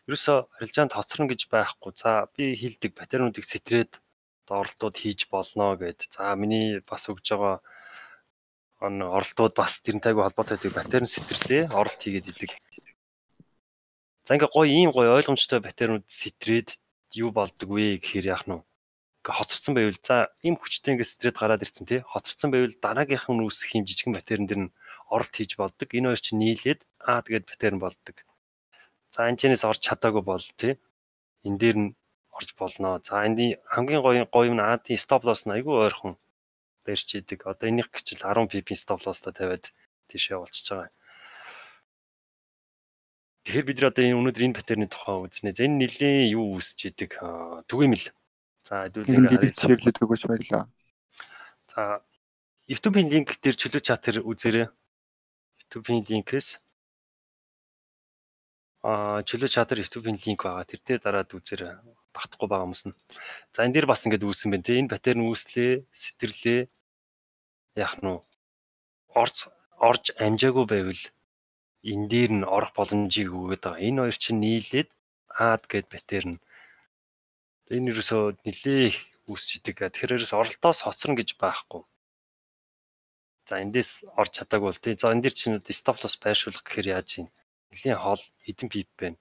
Ерөөсөө арилжаанд хоцорно гэж байхгүй. За би хилдэг батарейнуудыг сэтрээд оролтууд хийж болно гэд. За миний бас өгж байгаа оролтууд бас тэрнтэйг холбоотой батарейн сэтэрлээ оролт хийгээд идэг. За ингээ ийм гоё ойлгомжтой батарейнууд сэтрээд юу болдог вэ гэхээр яах нь хоцорсон байвал за ийм хүчтэй ингээ сэтрээд гараад ирсэн тий. Хоцорсон байвал дараагийнх нь үүсэх юм жижигэн батарейн дэр нь оролт хийж болдог. Энэ хоёр чинь нийлээд тэгээд батарейн болдог. За энэчнээс орж чадаагүй бол тий. Энэ дээр нь орж болно. За энэ хамгийн гоё нь AD stop loss нь айгүй ойрхон барьж идэг. Одоо энийх гिचл 10 pp stop loss-та тавиад тийшээ болчихж байгаа. Тэгэхээр бид одоо өнөөдөр энэ паттерны тухай үзнэ. За энэ нэлийн юу үүсэж идэг түгээмэл. За хэдүүлээ хараад ширлээд өгөөч баярлаа. За YouTube-ийн линк дээр чөлөө чатер үзээрэй. YouTube-ийн линкээс чөлөө чатер YouTube-ийн линк байгаа. Тэр дээр дараад үзээрэй. Багтахгүй байгаа хүмүүс нь. За энэ дээр бас ингэж үүссэн байна те. Энэ паттерн үүслээ, сэтэрлээ. Яах нь орж амжаагүй байвал энэ дээр нь орох боломжийг өгöd байгаа. Энэ хоёр чинь нийлээд гэд паттерн. Энэ юусоо нэлээ үүсч идэг. Тэгэхээр оролтоос хоцорно гэж байхгүй. За эндээс орж чадаагүй бол тий. За энэ дэр чинь stop loss байршуулах гэхээр яаж юм? Нэлийн хоол хэдэн pip байна?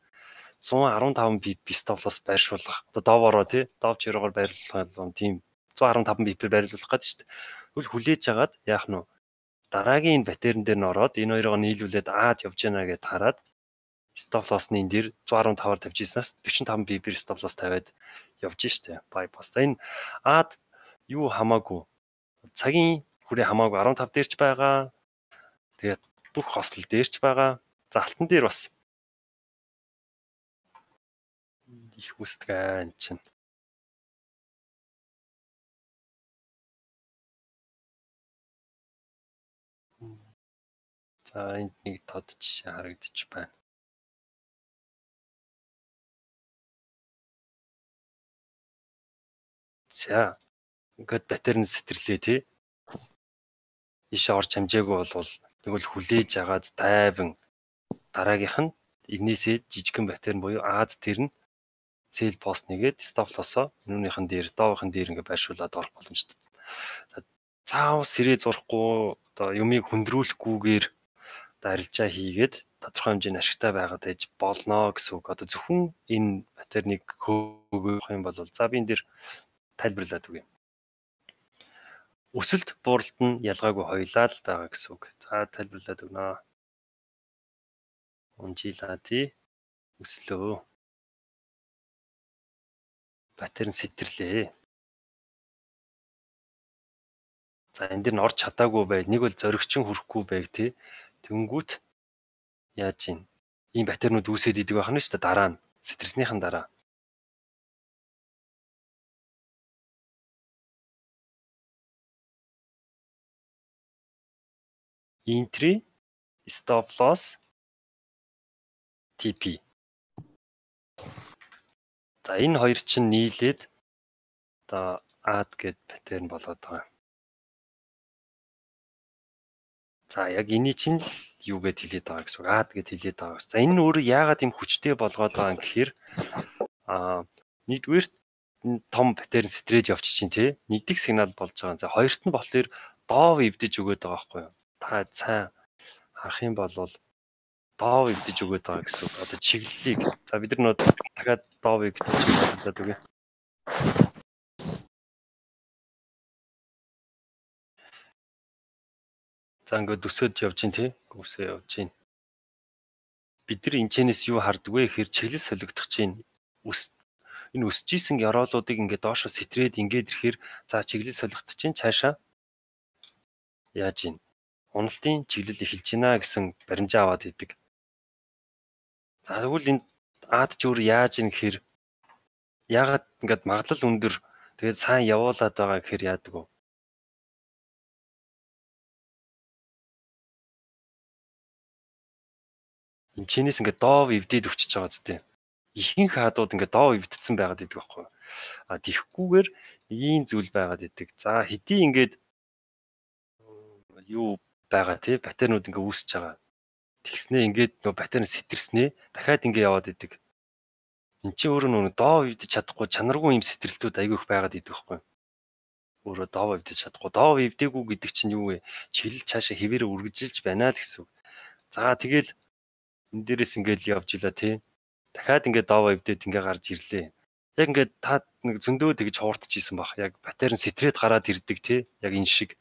115 pip stop loss байршуулах. Одоо доовороо тий. Дов чирогоор байрлуулах юм тийм 115 pip байрлуулах гэдэг шүү дээ. Тэгвэл хүлээж агаад яах нь дараагийн энэ паттерн дээр нь ороод энэ хоёроо нийлүүлээд явж яана гэдээ хараад stop loss-ны энэ дэр 115-аар тавьж ирсэнээс 45 pip-ээр stop loss тавиад явж штэ. Bypass. Энэ юу хамаагүй. Цагийн хүрээ хамаагүй 15 дээрч байгаа. Тэгээд бүх хослол дээрч байгаа. За алтан дээр бас их үсдэг энэ чинь. За энд нэг тод жишээ харагдчих байна. За ингээд паттерн сэтэрлээ тий. Ишээ орж хамжаагүй бол тэгвэл хүлээж агаад тайван дараагийнх нь энээсээ жижигхэн паттерн буюу тэр нь sell post нэгээд stop loss-оо энүүнийхэн дээр доовын дээр ингээд байршуулад орох боломжтой. Заавал сэрээ зурхгүй одоо юмыг хөндрүүлэхгүйгээр арилжаа хийгээд тодорхой хэмжээний ашигтай байгаад ээж болно гэсэн үг. Одоо зөвхөн энэ паттерныг хөөгөх юм бол за би энэ дээр тайлбарлаад өгье. Өсөлт бууралт нь ялгаагүй хоёлаа л байгаа гэсэн үг. За тайлбарлаад өгнө. Унжила тий. Өслөө. Паттерн сэтэрлээ. За энэ дэр нь орж чадаагүй бай. Нэг бол зоригчин хүрэхгүй байг тий. Тэнгүүт яаж юм? Ийм паттернууд үүсээд идэг байх нь шүү дээ дараа нь. Сэтэрснийхэн дараа. Entry, stop loss, TP. За энэ хоёр чинь нийлээд одоо гэд паттерн болоод байгаа. За яг энэ чинь юу гэд хэлээд байгаа гэсэн үг. Гэд хэлээд байгаа. За энэ нь өөрөө яагаад юм хүчтэй болгоод байгаа юм гэхээр нэгдүгээр том паттерн сэтрээд явчих чинь тий. Нэгдэх сигнал болж байгаа. За хоёрт нь болохоор доов эвдэж өгöd байгаа байхгүй юу? Та сайн харах юм бол доов эвдэж өгöd байгаа гэсэн үг. Одоо чиглэлийг за бид нар дахиад доовыг хэлээд үгүй. За ингээд өсөд явж гин тий. Өсөө явж гин. Бид нар энэчнээс юу харддаг вэ гэхээр чиглэл солигдох чинь энэ өсөж исэн яроолуудыг ингээд доошо сэтрээд ингээд ирэхээр за чиглэл солигдох чинь цаашаа яаж гин. Уналтын чиглэл эхэлж гинэ гэсэн баримжаа аваад идэг. За тэгвэл энэ ч өөр яаж гин гэхээр яагаад ингээд магадлал өндөр тэгээд сайн явуулаад байгаа гэхээр яадаг вэ? Энэчнээс ингээд доов эвдээд өчөж байгаа зү. Ихэнх хадууд ингээд доов эвдсэн байгаад идэг байхгүй. Тэхгүйгээр ийм зүйл байгаад идэг. За хэдий ингээд юу байгаа тий паттернууд ингээд үүсэж байгаа. Тэгснээ ингээд нөө паттерн сэтэрснээ дахиад ингээд яваад идэг. Энд чинь өөрөө нөгөө доо эвдэж чадахгүй чанаргүй юм сэтрэлтүүд айгүй их байгаад идэх байхгүй. Өөрөө доо эвдэж чадахгүй. Доо эвдээгүй гэдэг чинь юу вэ? Чилэл цаашаа хэвээрээ үргэлжилж байна л гэсэн үг. За тэгэл энэ дээрээс ингээд явж илаа тий. Дахиад ингээд доо эвдээд ингээд гарч ирлээ. Яг ингээд та нэг зөндөө тэгж хууртчихсэн баг. Яг батарей сэтрээд гараад ирдэг тий. Яг энэ шиг.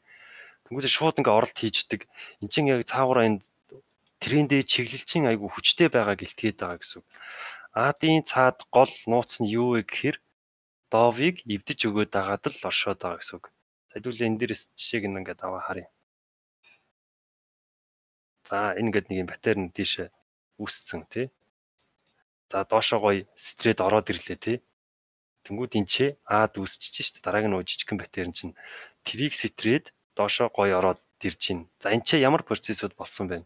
Тэнгүүтээ шууд ингээд оролт хийждэг. Энд чинь яг цаагаараа энэ трендээ чиглэлчин айгүй хүчтэй байгаа гэлтгээд байгаа гэсэн үг. Аадын цаад гол нууц нь юу вэ гэхээр доовыг эвдэж өгөөд байгаад л оршоод байгаа гэсэн үг. Хэдүүлээ энэ дээрээс жишээг нь ингээд аваа харъя. За энэ ингээд нэг юм батарей нь тийшээ үүсцэн тий. За доошоо гоё стрээд ороод ирлээ тий. Тэнгүүд энэ ч аад үүсчихэж шүү дээ. Дараагийн нөө жижигхэн батарей чинь трийг стрээд доошоо гоё ороод ирж байна. За энэ ч ямар процессуд болсон бэ?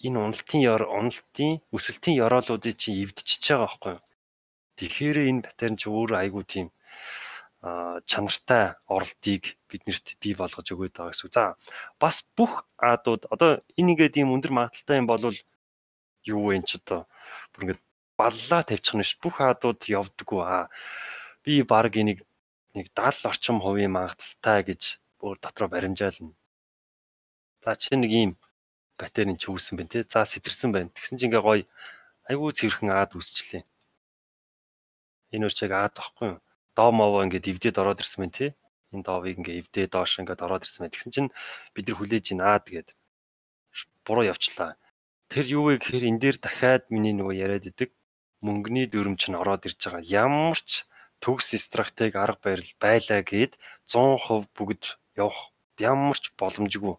Энэ уналтын өсөлтийн ёроолуудыг чинь эвдчихэж байгаа байхгүй юу? Тэгэхээр энэ батарей чинь өөрөө айгүй тийм чанартай оролтыг биднэрт бий болгож өгöd байгаа гэсэн. За бас бүх аадууд одоо энэ ингээд ийм өндөр магадaltaй юм бол юу вэ энэ ч одоо бүр ингээд баллаа тавьчих нь ш. Бүх аадууд явдаггүй. Би баг энийг нэг 70 орчим хувийн магадaltaй гэж бүр дотроо баримжаална. За чи нэг ийм батарейн ч үүссэн байна тий. За сэтэрсэн байна. Тэгсэн чинь ингээ гоё айгүй цэвэрхэн аад үүсчлээ. Энэ өөр чиг аад баггүй юу? Доо мовоо ингээд эвдээд ороод ирсэн байна тий. Энэ доовыг ингээ эвдээ доош ингээд ороод ирсэн байна. Тэгсэн чинь бид нар хүлээж ин аад гээд буруу явчлаа. Тэр юу вэ гэхээр энэ дээр дахиад миний нөгөө яриад идэг мөнгөний дүрм чинь ороод ирж байгаа. Ямар ч төгс стратеги арга барил байлаа гээд 100% бүгд явах ямар ч боломжгүй.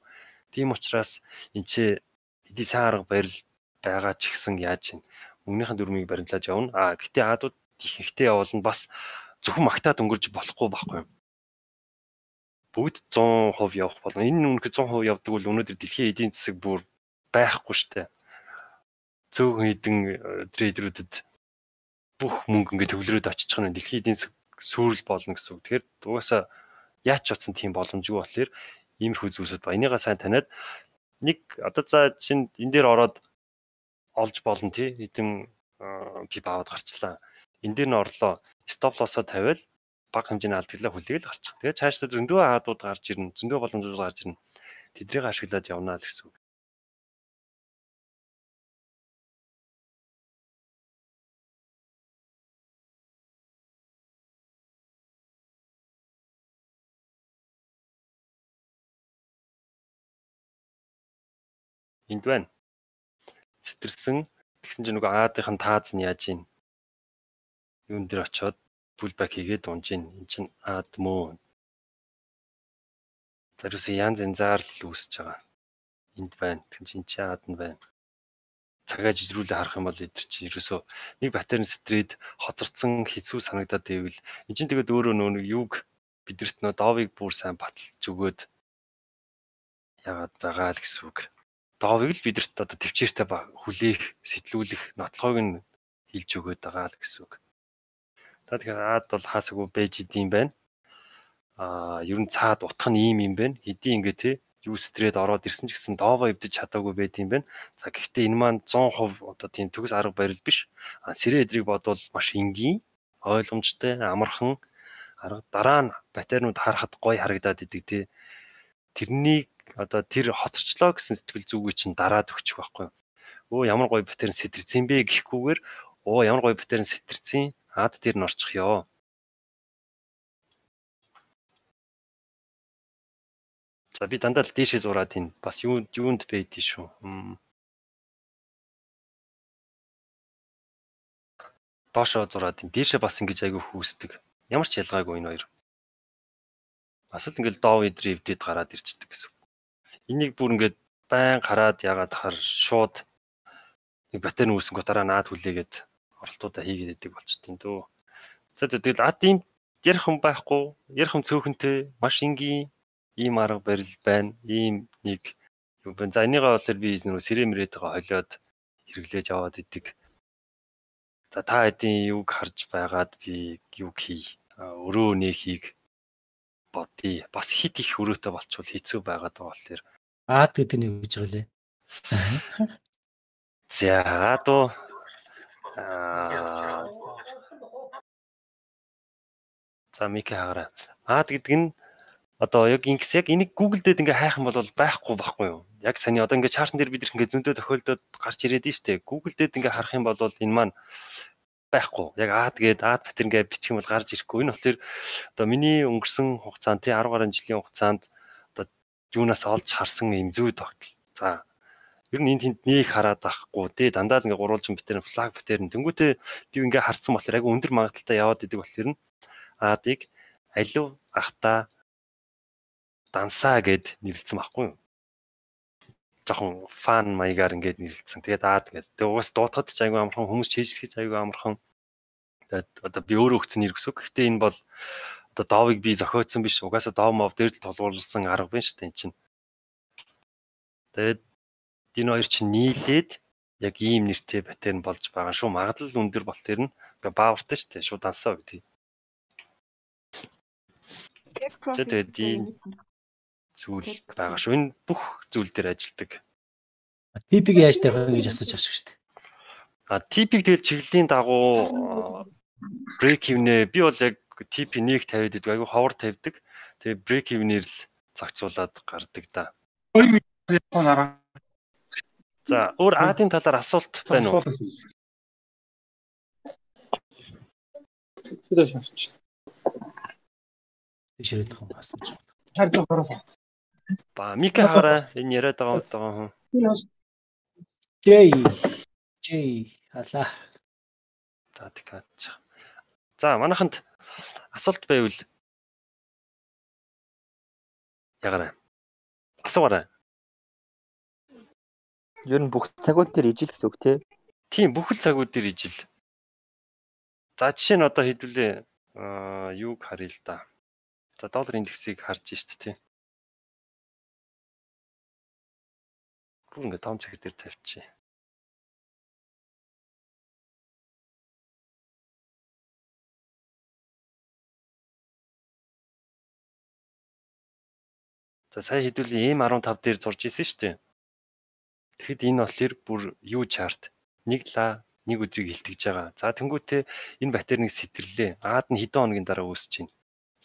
Тийм учраас энэ ч эдийн сайн арга барил байгаа ч гэсэн яаж юм мөнгөнийхэн дүрмийг баримтлаж явна. Гэтээ аадууд ихэнхдээ явуулна бас зөвхөн магтаад өнгөрч болохгүй байхгүй юу? Бүгд 100% явах болно. Энэ үнэхээр 100% явдаг бол өнөөдөр дэлхийн эдийн засаг бүр байхгүй штэ. Цөөхөн хэдэн трейдерүүдэд бүх мөнгө ингээд төвлөрөөд очичих нь дэлхийн эдийн засаг сүрэл болно гэсэн үг. Тэгэхээр угаасаа яач утсан тийм боломжгүй болохоор иймэрхүү зүйлсүүд ба энийгээ сайн таниад нэг одоо за чинь энэ дээр ороод олж болно тий хэдэн пип аваад гарчлаа. Энэ дээр нь орлоо стоп лоссоо тавиал бага хэмжээний алдагдлаа хүлээл гарчих. Тэгээд цаашдаа зөндөө аадууд гарч ирнэ, зөндөө боломжууд гарч ирнэ. Тэдрийг ашиглаад явна л гэсэн үг. Энд байна. Сэтэрсэн тэгсэн чинь нөгөө аадын тааз нь яаж ийн юун дээр очиод pullback хийгээд унж ийн. Энд чинь аад мөө. Зариусан янз янзаар л үүсэж байгаа. Энд байна. Тэгэн чинь чи аад нь байна. Цагаа жижрүүлээ харах юм бол эдгээр чи ерөөсөө нэг батарей стрээд хоцорцсон хэцүү санагдаад байвал энэ чинь тэгээд өөрөө нөө юуг бидэрт нөө доовыг бүр сайн баталж өгөөд яагаад байгаа л гэсэн үг. Доовыг л бидэрт одоо төвчээртэй хүлээх, сэтлүүлэх нотлохойг нь хилж өгөөд байгаа л гэсэн үг. За тэгэхээр аад бол хаасаагүй байж идэм байна. Ер нь цаад утх нь ийм юм байна. Хэдий ингээ те юу стрээд ороод ирсэн ч гэсэн доовоо эвдэж чадаагүй байт юм байна. За гэхдээ энэ маань 100% одоо тийм төгс арга барил биш. Сэрээ эдрийг бодвол маш энгийн, ойлгомжтой, амархан арга дараа нь батарейнууд харахад гоё харагдаад идэг те. Тэрнийг одоо тэр хоцорчлоо гэсэн сэтгэл зүгээ чинь дараад өгчих байхгүй юу? Ямар гоё батарей сэтэрсэн бэ гэхгүйгээр ямар гоё батарей сэтэрсэн аад дээр нь орчих ёо. За би дандаа л дээшээ зураад энэ бас юунд байдгийг шүү. Доошоо зураад энэ дээшээ бас ингэж айгүй хүүсдэг. Ямар ч ялгаагүй энэ хоёр. Бас л ингээл доов идрээ эвдээд гараад ирчдэг гэсэн. Энийг бүр ингээд байн хараад ягаад хахаар шууд нэг батарей үүсэн гутараа наад хүлээгээд оролтуудаа хийгээд идэг болчтой дөө. За тэгэл ийм ярих юм байхгүй, ярих юм цөөхөнтэй, маш энгийн ийм арга барил байна. Ийм нэг юу байна. За энийгээ болохоор би нөө сэрээ мөрөөдөгөө холиод хэрэглээж яваад идэг. За та хэдийн юг харж байгаад би юг хий. Өрөө нээхийг бодъё. Бас хит их өрөөтэй болчихвол хэцүү байгаад байгаа болохоор аад гэдэг нь юу гэж байгаа лээ? За дуу за Мика хагараа. Гэдэг нь одоо яг энийг Google дээр ингээ хайх юм бол байхгүй юу? Яг саний одоо ингээ чартн дээр бид ингээ зөндөө тохиолдоод гарч ирээд нь штэ. Google дээр ингээ харах юм бол энэ маань байхгүй. Яг тэгээд батэр ингээ бичих юм бол гарч ирэхгүй. Энэ болохоор одоо миний өнгөрсөн хугацаанд 10 гаруй жилийн хугацаанд одоо юунаас олж харсан юм зүй тогтол. За ер нь энд нэг хараад байхгүй. Тэ дандаа ингээ гурвалжин битэр флаг битэр тэнгуүтээ би ингээ харцсан болохоор яг өндөр магадaltaй яваад идэг болохоор нь Адыг алив ахта дансаа гэд нэрлэлсэн байхгүй юу? Жохон фан маягаар ингээд нэрлэлсэн. Тэгээд тэгээд угаас дуутахад ч айгүй амархан, хүмүүс чийжлэхэж айгүй амархан. Тэгээд одоо би өөрөө өгсөн нэр гэсэн. Гэхдээ энэ бол одоо доовыг би зохиоцсон биш. Угаасаа доомов дээр л толгуурлсан арга байна шүү дээ энэ чинь. Тэгээд энэ хоёр чинь нийлээд яг ийм нэртэй паттерн болж байгаа шүү. Магадлал өндөр бол тэр нь ингээ баавартай шүү дээ. Шууд дансаа гэдэг. Тэгээд энэ зүйл байгаа шүү. Энэ бүх зүйл дээр ажилдаг. TP-г яаж тавих вэ гэж асууж байгаа шүү дээ. TP-г тэгэл чиглэлийн дагуу break even-ээ би бол яг TP 1 тавиад идэг. Айгу ховор тавьдаг. Тэгээ break even-ээр л зохицуулаад гардаг да. За, өөр Адын талаар асуулт байна уу? Ширээд байгаа юм асууж байна. Харж байгаа. Ба Мика хараа энэ яриад байгаа хүн. J халаа. За манайханд асуулт байвал ягараа. Асуугаарай. Ер нь бүх цагууд дээр ижил гэсэн үг тий. Тийм бүх л цагууд дээр ижил. За жишээ нь одоо хэдүүлээ юуг харъя л да. За доллар индексийг харж шít тий. Бүр ингээ том цаг дээр тавьчих. За сая хэдүүлээ M15 дээр зурж исэн шүү дээ. Тэгэхэд энэ болохоор бүр юу чарт. Нэг өдрийг хилтгэж байгаа. За тэнгуүтээ энэ батерийг сэтэрлээ. Аад нь хэдэн хоногийн дараа үүсэж байна.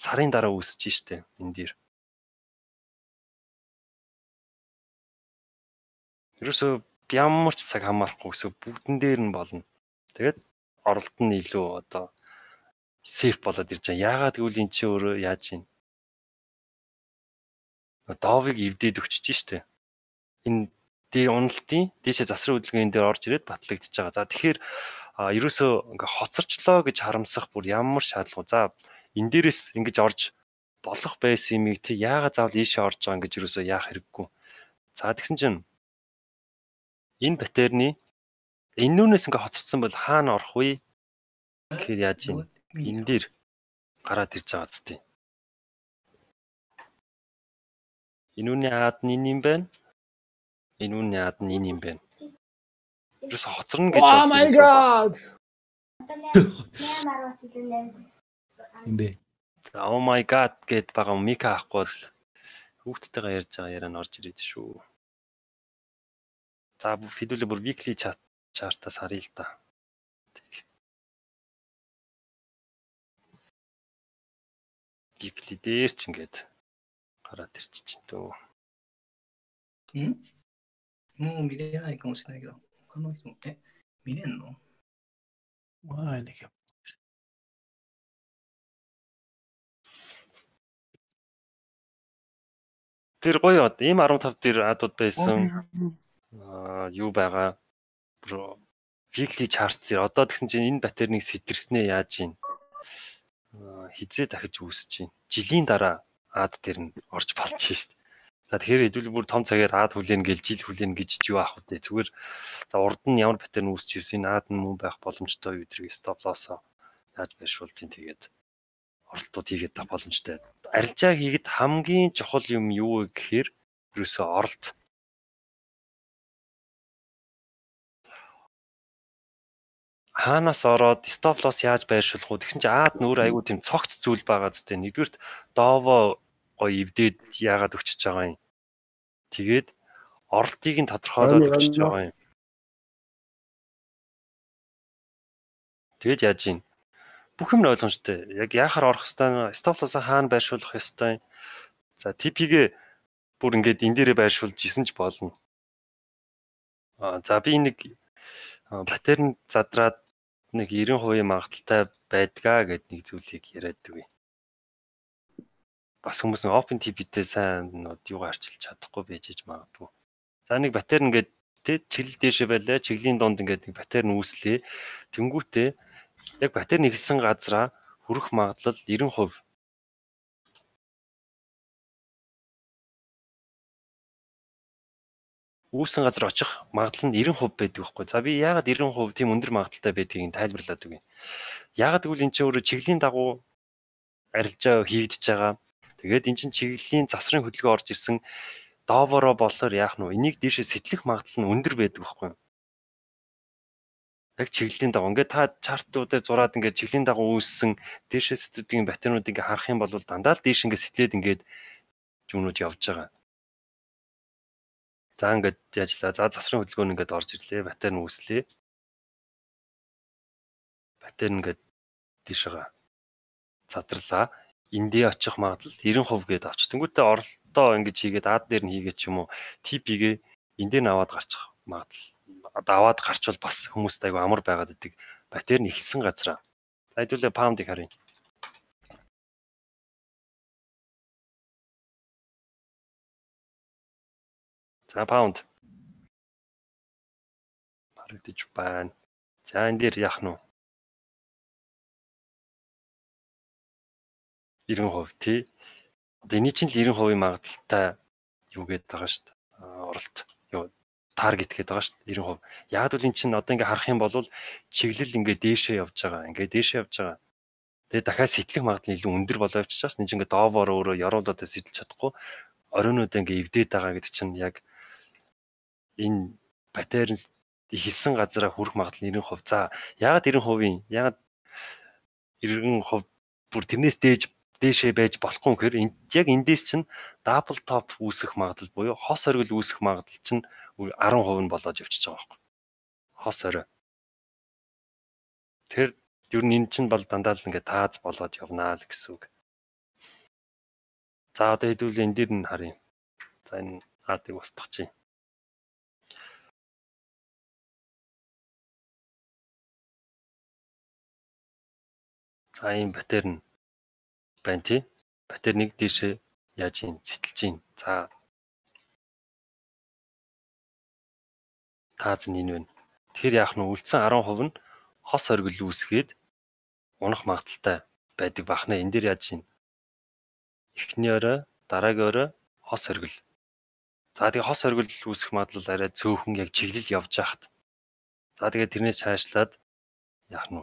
Сарын дараа үүсэж штэ энэ дээр. Ерөөсөө ямар ч цаг хамаарахгүй гэсэн бүгдэн дээр нь болно. Тэгээд оролт нь илүү одоо сейф болоод ирж байгаа. Яагаад гэвэл эн чинь өөрөө яаж юм? Доовыг эвдээд өгчөж штэ. Энэ дээр уналтын дээшээ засрын хөдөлгөөний дээр орж ирээд батлагдчихж байгаа. За тэгэхээр ерөөсөө ингээ хоцорчлоо гэж харамсах бүр ямар шаардлага. За энэ дээрээс ингэж орж болох байсан юмыг тий яагаад заавал ийшээ орж байгаа ингэж ерөөсөө яах хэрэггүй. За тэгсэн чинь энэ батерны энүүнээс ингээ хоцорсон бол хаана орох вэ? Тэгэхээр яаж юм? Энэ дээр гараад ирж байгаа зү тий. Энүүний аад нь энэ юм байна. Энүүний аад нь энэ юм байна. Ерөөс хоцорно гэж Oh my god. Юм бэ. Oh my god гэд байгаа Мика ахгүй бол хүүхдтэйгээ ярьж байгаа яриа нь орж ирээд шүү. За хэдүүлээ бүр weekly chart-аас харъя л да. Weekly дээр ч ингээд гараад ирчих чинь дөө. もう見れないかもしれないけど、他の人も見れんの？ Ваа нэг юм. Тэр гоё M15 дээр адууд байсан. Юу байгаа? Weekly chart дээр одоо тэгсэн чинь энэ батерийг сэтэрснээ яаж юм? Хизээ дахиж үүсэж чинь. Жилийн дараа ад дээр нь орж болж шít. За тэгэхээр хэдүүл бүр том цагаар ад хүлээн гээл жил хүлээн гэж юу аах вэ? Зүгээр за урд нь ямар паттерн үүсч ирсэн ад нь мөн байх боломжтой өдрийг стоп лоссоо яаж байршуултын тэгээд оролтууд хийгээд та боломжтой. Арилжаа хийгээд хамгийн чухал юм юу вэ гэхээр ерөөсөө оролт. Хаанаас ороод стоп лосс яаж байршуулах вэ? Тэгсэн чинь аад нь өөр айгүй тийм цогц зүйл байгаа зү. Нэгдүгürt дово гоё эвдээд яагаад өчөж байгаа юм. Тэгээд оролтыг нь тодорхойлоод өчөж байгаа юм. Тэгээд яаж ийн? Бүх юм ойлгомжтой. Яг яахаар орох хэвээр stop loss-а хаана байршуулах ёстой. За TP-гээ бүр ингээд энэ дээрээ байршуулж исэн ч болно. За би нэг паттерн задраад нэг 90% магадaltaй байдгаа гэд нэг зүйлийг яриад өгье. Бас хүмүүс нэг open TP-тэй сайн юугаар арчилж чадахгүй байж магадгүй. За нэг паттерн ингээд тэ чиглэл дээшээ байлаа, чиглийн донд ингээд нэг паттерн үүслээ. Тэнгүүтээ яг паттерн ихсэн газараа хүрэх магадлал 90%. Үүсэн газар очих магадлал нь 90% байдаг байхгүй. За би яагаад 90% тийм өндөр магадaltaй байдгийг тайлбарлаад өгье. Яагаад гэвэл эн чинь өөрөө чиглийн дагуу арилжаа хийгдэж байгаа. Тэгээд эн чинь чиглэлийн засварын хөдөлгөөн орж ирсэн доовороо болохоор яах нь вэ? Энийг дээшээ сэтлэх магадлал нь өндөр байдаг байхгүй. Яг чиглэлийн дагуу ингээд та чартуудаар зураад ингээд чиглэлийн дагуу үүссэн дээшээ сэтгэдгийн паттернуудыг ингээд харах юм бол дандаа л дээш ингээд сэтлээд ингээд жүнүүд явж байгаа. За ингээд яажлаа. За засварын хөдөлгөөн ингээд орж ирлээ. Паттерн үүслээ. Паттерн ингээд дээшээ задарлаа. Эндээ очих магадлал 90% гээд авч. Тэнгүүтээ оролтоо ингэж хийгээд ад дээр нь хийгээд ч юм уу TP-гээ эндээ наваад гарчих магадлал. Даваад гарчвал бас хүмүүст айгу амар байгаад идэг. Паттерн ихсэн газараа. За хэдүүлээ паундыг харъя. За паунд. Харагдаж байна. За энэ дээр яах нь вэ? 90% тий. Одоо энэ чинь л 90% магадaltaй юу гээд байгаа шүү дээ. Оролт. Юу таргет гээд байгаа шүү дээ 90%. Яг л эн чинь одоо ингээ харах юм бол чиглэл ингээ дээшээ явж байгаа. Ингээ дээшээ явж байгаа. Тэгээ дахиад сэтлэх магадлал илүү өндөр болоо явчихсан. Энэ чинь ингээ доовоор өөрөө яруулаад сэтлж чадахгүй. Оройнууд ингээ эвдээд байгаа гэдэг чинь яг энэ паттерн хийсэн газараа хүрэх магадлал 90%. За яагаад 90%? Яагаад 90% бүр тэрнээс дээшээ байж болохгүй гэхээр яг эндээс чинь double top үүсэх магадлал буюу хос оргил үүсэх магадлал чинь 10% нь болоод явчихж байгаа байхгүй. Хос орой. Тэр ер нь энэ чинь бол дандаа л ингээ тааз болоод явнаа л гэсэн үг. За одоо хэдүүлээ энэ дээр нь харъя. За энэ хатыг устгах. За ийм паттерн байна тий. Паттерныг дээшээ яаж юм цэтэлж юм. За тааз нь энэ байна. Тэгэхээр яах нь үлдсэн 10% нь хос оргил үүсгээд унах магадaltaй байдаг бахна. Энэ дээр яаж юм. Эхний орой, дараагийн орой хос оргил. За тэгээ хос оргил үүсэх магадлал арай цөөхөн яг чиглэл явж байхад. За тэгээ тэрнээс цаашлаад яах нь.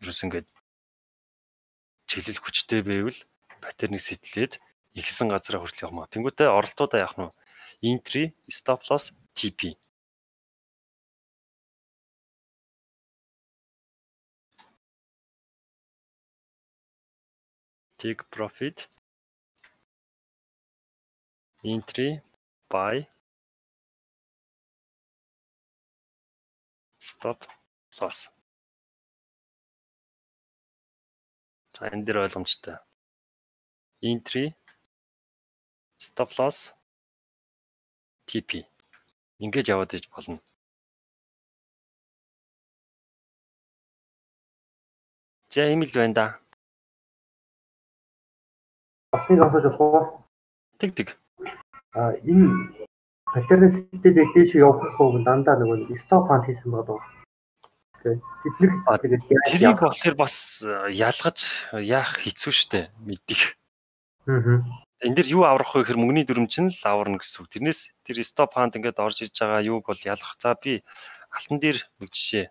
Ерөөс ингээд чиглэл хүчтэй байвал паттерныг сэтлээд ихсэн газараа хүртэл явах маа. Тэнгүүтээ оролтуудаа яах нь. Entry, stop loss, TP. Take profit. Entry, buy. Stop loss. За энэ дээр ойлгомжтой. Entry, stop loss, TP. Ингэж яваад иж болно. За ийм л байна да. Бас нэг асууж болох уу? Тэг. Энэ паттерн системтэй дээш явах уу дандаа нөгөө stop hunt хийсэн байгаа. Тэгээд тэрийг болохоор бас ялгаж яах хэцүү шттэ мэдих. Энэ дэр юу аврах вэ гэхээр мөнгөний дүрм чинь л аварна гэсэн үг. Тэрнээс тэр stop hunt ингээд орж иж байгаа юуг бол ялах. За би алтан дээр нэг жишээ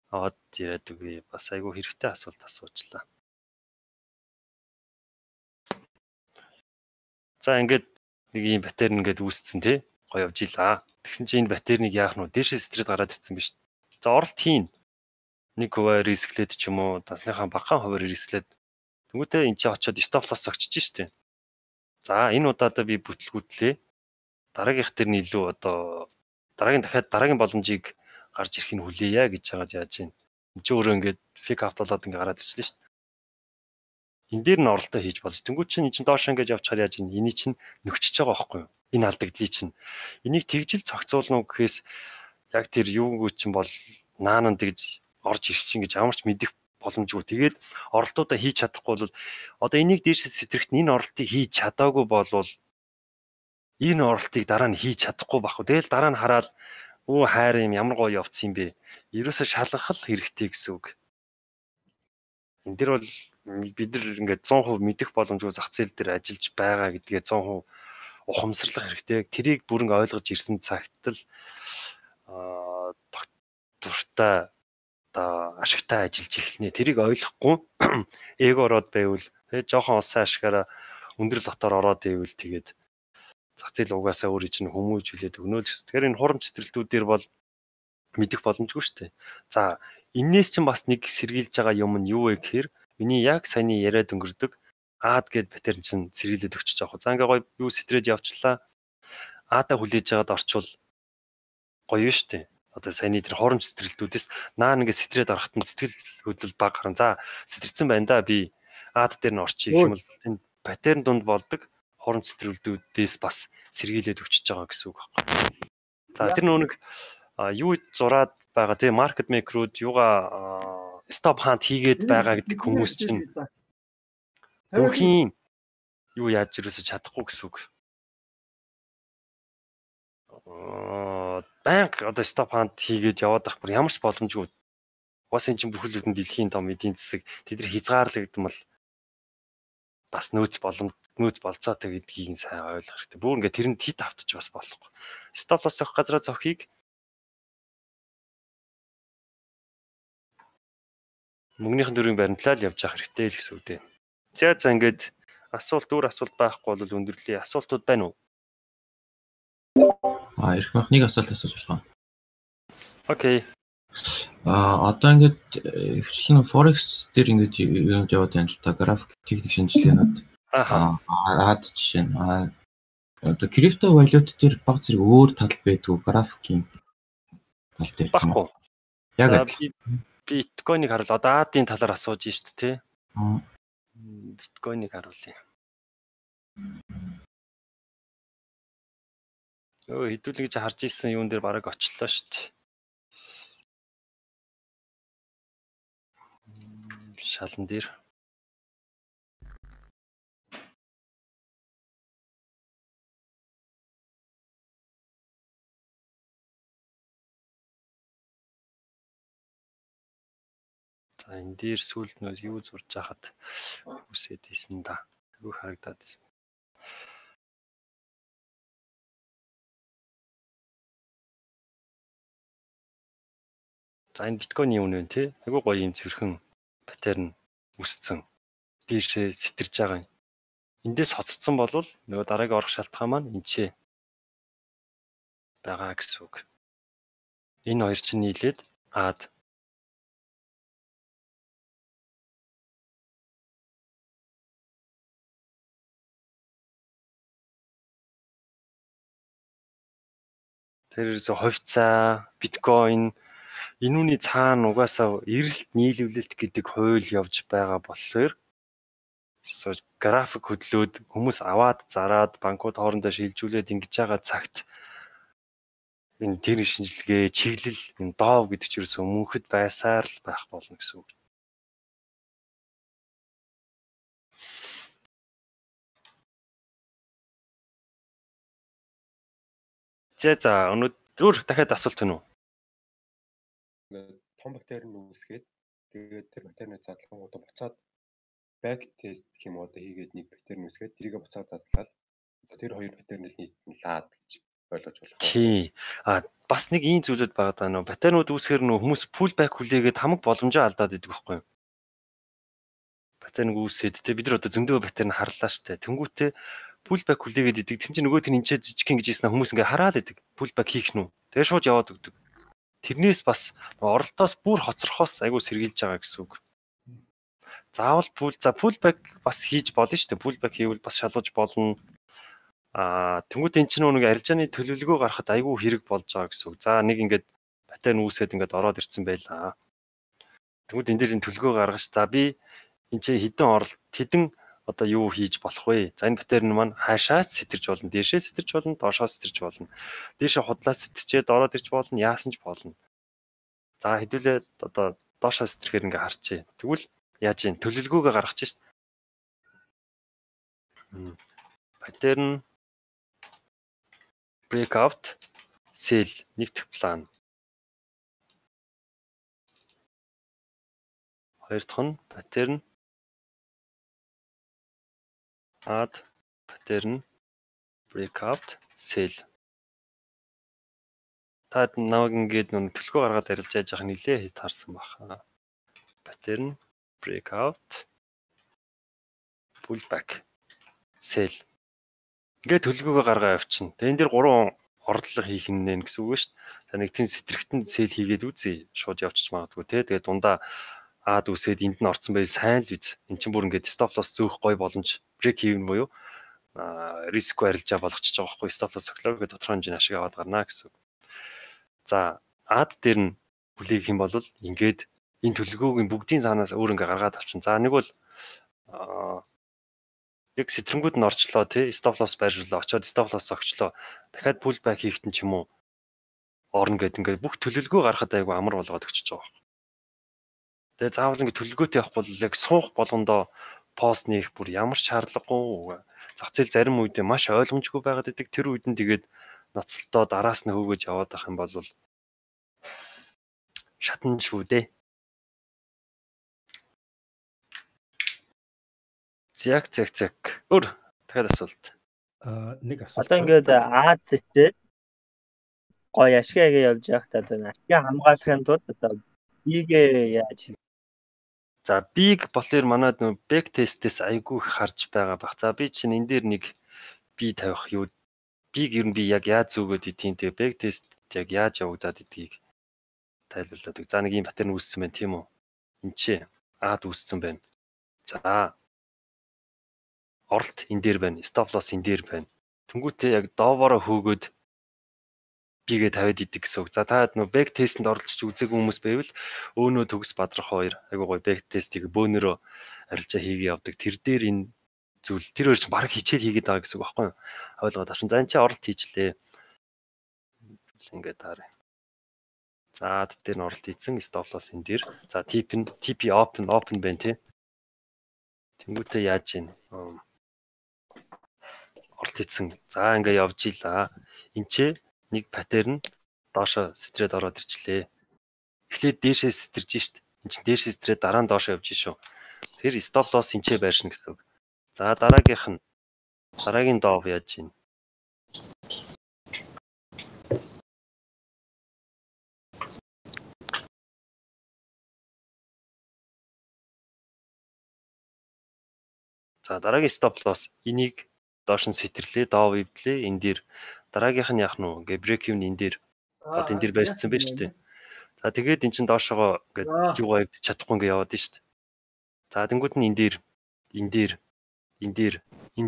аваад яриад үгүй. Бас айгүй хэрэгтэй асуулт асуучлаа. За ингээд нэг юм паттерн ингээд үүсцэн тий. Гоё явж илаа. Тэгсэн чинь энэ паттерныг яах нь вэ? Дээшээ стрит гараад ирсэн биз. За оролт хийн. 1% рисклээд ч юм уу дасныхаа багахан хуваар рисклээд тэнгуүтээ энэ чи очиод stop loss огчиж штэ. За энэ удаадаа би бүтлгүүтлээ. Дараагийнх дээр нь илүү одоо дараагийн дахиад дараагийн боломжийг гарч ирэхийг хүлээе гэж байгаа яаж байна. Энд чинь өөрөө ингээд фик авт болоод ингээд гараад ирчихлээ шүү дээ. Энэ дээр нь оролтоо хийж болж. Тэнгүүд чинь энэ чинь доош ингээд явчихаар яаж энэ энийг чинь нөхчиж байгаа байхгүй юу? Энэ алдагдлыг чинь. Энийг тэгжил зохицуулна уу гэхээс яг тэр юугүй чинь бол наанан тэгж орж ирэх чинь гэж ямар ч мэдэх боломжгүй. Тэгээд оролтуудаа хийж чадахгүй бол одоо энийг дээшээс сэтрэгт энэ оролтыг хийж чадаагүй болвол энэ оролтыг дараа нь хийж чадахгүй байхгүй. Тэгэл дараа нь хараад өө хайр юм ямар гоё явцсан юм бэ? Ерөөсө шалгах л хэрэгтэй гэсэн үг. Энд дэр бол бид нар ингээд 100% мэдэх боломжгүй зах зээл дээр ажиллаж байгаа гэдгээ 100% ухамсарлах хэрэгтэй. Тэрийг бүрэн ойлгож ирсэн цагт л дуртай одоо ашигтай ажиллаж эхэлнэ. Тэрийг ойлгохгүй эго ороод байвал тэгээ жоохон улсын ашгаараа өндөр лотоор ороод байвал тэгээд зах зээл угаасаа өөрөө чинь хүмүүжүүлээд өгнө л гэсэн. Тэгэхээр энэ хурамч цэцэрлэгүүдээр бол мэдэх боломжгүй шүү дээ. За энээс чинь бас нэг сэргийлж байгаа юм нь юу вэ гэхээр миний яг саяны яриад өнгөрдөг аад гэд паттерн чинь сэргийлээд өгч байгаа. За ингээ гоё юу сэтрээд явчлаа. Аадаа хүлээж аваад орчвол гоё шүү дээ. Одоо саяны тэр хоромж сэтрэлтүүдээс наа ингээ сэтрээд ороход нь сэтгэл хөдлөл баг гарна. За сэтэрсэн байна да би аад дээр нь орчих юм бол энэ паттерн дунд болдог хоромж сэтрэлтүүдээс бас сэргийлээд өгч байгаа гэсэн үг байна. За тэр нэг юу зураад байгаа тийм маркет мейкерүүд юугаа стоп хант хийгээд байгаа гэдэг хүмүүс чинь бүхийн юу яаж ирээсэ чадахгүй гэсэн үг. Банк одоо стоп хант хийгээд яваад ах бүр ямар ч боломжгүй. Уус энэ чинь бүхэл бүтэн дэлхийн том эдийн засаг тэд нар хязгаарлагдсан бол бас нөөц болцоотой гэдгийг сайн ойлгох хэрэгтэй. Бүр ингээд тэрэнд хит автчих бас болохгүй. Стоп лосс авах газраа зохийг мөнгөнийхэн дөрвийн баримтлал явж явах хэрэгтэй л гэсэн үг дээ. За ингээд асуулт байхгүй бол өндөрлөе. Асуултууд байна уу? Ирэх байх нэг асуулт асууж болох. Окей. Одоо ингээд хвчлэн Forex дээр ингээд юунд яваад байна л та график техник шинжилгээнүүд. Аад жишээ нь одоо крипто валют дээр баг зэрэг өөр тал байдгүй графикийн тал дээр. Баггүй. Яг биткойныг харуул. Одоо аадын талаар асууж шүү дээ, тий? Биткойныг харуулъя. Хэдүүлээ гэж харж ирсэн юун дээр бараг очлоо шүү дээ. Шалан дээр. За энэ дээр сүүлд нөө юу зурж хахад үсээд ийсэн да. Юу харагдаад ийсэн. За энэ биткойн юм нэ тий. Айгуу гоё юм цэвэрхэн паттерн үсцэн. Дээршээ сэтэрж байгаа юм. Эндээс хоцорсон болвол нөгөө дараагийн орох шалтгаан маань энчээ байгаа гэсэн үг. Энэ хоёр чинь нийлээд аад тэр хувьцаа, биткойн энүүний цаана угаасаа эрэлт нийлүүлэлт гэдэг хууль явж байгаа болохоор график хөдлөөд хүмүүс аваад зараад банкуд хоорондоо шилжүүлээд ингэж байгаа цагт энэ техник шинжилгээ, чиглэл, энэ доов гэдэг ч ерөөсөө мөнхөд байсаар л байх болно гэсэн үг. За өнөөдөр дахиад асуулт байна уу? Том бактерийн үүсгээд тэгээд тэр бактерийн задлангуудаа буцаад back test гэх юм одоо хийгээд нэг бактерийн үүсгээд тэрийг буцаад задлаад тэр хоёр бактерийг нийтлээд гэж ойлгож болох. Тий. Бас нэг ийм зүйлүүд байгаа даа нөө бактериуд үүсгэхээр нөө хүмүүс pullback хүлээгээд хамаг боломжоо алдаад идэг байхгүй юу? Бактерийг үүсээд те бид нар одоо зөндөө бактерийг харлаа штэ. Тэнгүүтээ pullback хүлээгээд идэг. Тэгсэн чинь нөгөө тэр энэ жижигхэн гэж хэлсэн хүмүүс ингээ хараад идэг. Pullback хийх нь үү? Тэгээ шууд яваад өгдөг. Тэрнээс бас оролтоос бүр хоцрохоос айгүй сэргийлж байгаа гэсэн үг. Заавал pullback бас хийж болно шүү дээ. Pullback хийвэл бас шалгаж болно. Тэнгүүд энэ чинь нэг арилжааны төлөвлөгөө гаргахад айгүй хэрэг болж байгаа гэсэн үг. За нэг ингээд паттерн үүсээд ингээд ороод ирсэн байлаа. Тэгвэл энэ дээр энэ төлгөө гаргаж за би энэ чинь хэдэн одоо юу хийж болох вэ? За энэ паттерн маань хаашаас сэтэрч болно, дээшээ сэтэрч болно, доошоос сэтэрч болно. Дээшээ худлаас сэтэрчээд ороод ирж болно, яасан ч болно. За хэдүүлээ одоо доошоос сэтэрхээр ингээ харчээ. Тэгвэл яаж юм төлөвлөгөөгөө гаргах чинь шүү дээ. Паттерн breakout sell нэгдэх план. Хоёр дахь нь паттерн add pattern breakout sell. Та намайг ингээд нүн төлхөө гаргаад арилж яаж яах нэлээ таарсан баха. Pattern breakout pullback sell. Ингээд төлгөөгөө гаргаа явчихна. Тэгээ энэ дэр 3 ордлого хийх нэ гэсэн үг шүү дээ. За нэг тийм сэтэрхтэн sell хийгээд үзье. Шууд явчих магадгүй те. Тэгээ дундаа аад үсээд энд нь орцсон байл сайн л биз. Эн чинь бүр ингээд stop loss зөөх гой боломж break even буюу риск арилжаа болгочихж байгаа байхгүй stop loss өглөө гэдэг тодорхой хэмжээний ашиг аваад гарна гэсэн. За ад дээр нь хүлээх юм бол ингээд энэ төлөвлөгөөгийн бүгдийн цаанаас өөр ингээ гаргаад авчин. За нэг бол яг сэтрэнгүүд нь орчлоо тий stop loss байрлалаа очоод stop loss огчлоо. Дахиад pull back хийхтэн ч юм уу орно гэдэг ингээд бүх төлөвлөгөө гаргахад айгүй амар болгоод өгчөж байгаа. Тэгээ заавал ингээ төлөвлөгөөтэй явах бол яг суух болгондоо пост нээх бүр ямар ч шаардлагагүй. Зах зээл зарим үедээ маш ойлгомжгүй байгаад идэг. Тэр үед нь тэгээд ноцолтоо дараас нь хөөгөж яваад ах юм бол шатна шүү дээ. Зяг. Өөр дахиад асуулт. Нэг асуулт. Одоо ингээд Аз зэтээ гоё ашигаагаа явж явах та ашиг хамгаалахын тулд одоо бигээ яаж За big болохоор манайд нөө back test-ээс айгүй их харж байгаа бах. За би чинь энэ дээр нэг би тавих юу big ер нь би яг яаж зүгөөд идэх тэгээ back test яг яаж явагдаад идгийг тайлбарлаад. За нэг юм паттерн үүссэн байна тийм үү? Энд чи аад үүссэн байна. За оролт энэ дээр байна. Stop loss энэ дээр байна. Тэнгүүтээ яг доовороо хөөгөөд бигээ тавиад идэг гэсэн үг. За та нөө back test-д оролцож үзээгүй хүмүүс байвал өөнөө төгс бадрах хоёр айгуу гоё back test-ийг бөөнөрөө арилжаа хийгээ явдаг. Тэр дээр энэ зүйл тэр хоёр ч баг хичээл хийгээд байгаа гэсэн үг байхгүй юу? Ойлгоод авчин. За энэ чи оролт хийчлээ. Ингээд таарай. За дээр нь оролт хийсэн stop loss энэ дээр. За TP open байна тий. Тэнгүүтээ яаж ийн оролт хийсэн. За ингээд явж ийлаа. Энд чи нэг паттерн доошо стрээд ороод ирчлээ. Эхлээд дээшээ сэтэрж шít. Энд чинь дээшээ стрээд дараа нь доошо явж шүү. Тэр stop loss энчээ байршина гэсэн үг. За дараагийн доов яаж ийн. За дараагийн stop loss энийг доош нь сэтэрлээ, доов ивдлээ. Энэ дээр дараагийнх нь яах нь вэ? Ингээ break even энэ дээр одоо энэ дээр байрцсан байж тээ. За тэгээд эн чин доошогоо ингээд юугаа ивдэж чадахгүй ингээ яваад нь шүү дээ. За тэнгууд нь энэ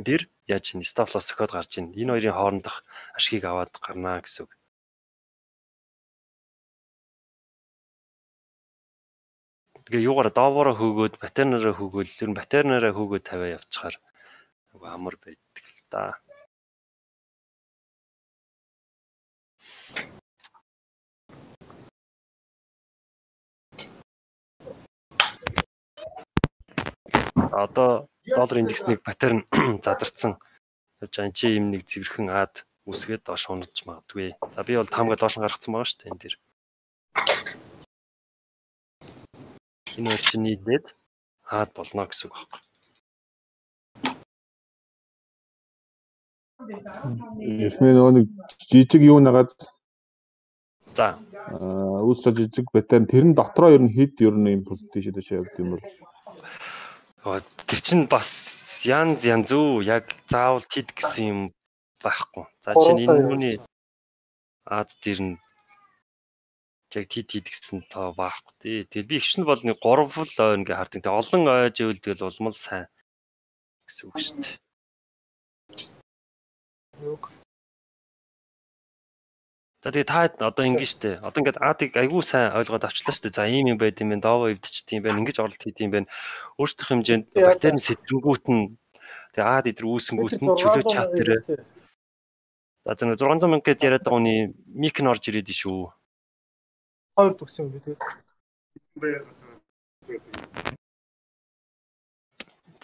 дээр яаж ин stop loss өгөхөд гарч ийн. Энэ хоёрын хоорондох ашгийг аваад гарнаа гэсэн үг. Тэгээ юугаар доовороо хөөгөөд паттернаараа хөөгөөл ер нь паттернаараа хөөгөөд тавиа явчихаар амар байдаг л да. Одоо доллар индексний паттерн задарсан явж байгаа чи юм нэг зэвэрхэн аад үсгээд доош унаж магадгүй. За би бол таамгаа доош нь гаргацсан байгаа шүү дээ энэ дэр. Энэ хоёр чинь нийлээд аад болно гэсэн үг байна. Эхний нөгөө нэг жижиг юу нагаад за үүсэж жижиг паттерн тэрэн дотроо ер нь хэд ер нь импульс тийш явд юм бол тэр чинь бас янз үү яг заавал тэд гэсэн юм байхгүй. За чинь энэ нүуний аад дээр нь яг тэд гэсэн тоо байхгүй тий. Тэгэл би ихшин бол нэг 3 ой ингээ хардаг. Тэг олон ойж ивэл тэгэл улмал сайн гэсэн үг шүү дээ. За тэгээ та одоо ингэ штэ. Одоо ингээд аадыг айгүй сайн ойлгоод авчлаа штэ. За ийм юм байд юм байна. Дово эвдчихт юм байна. Ингэж оролт хийд юм байна. Өөрсдөх хэмжээнд бактерийн сэтрнгүүт нь тэгээ аад идэр үүсэнгүүт нь чөлөө чат дээр. За тэр 600 мянга гэж яриад байгаа хүний мик нь орж ирээд шүү. 2 төгсөн юм би тэгээд.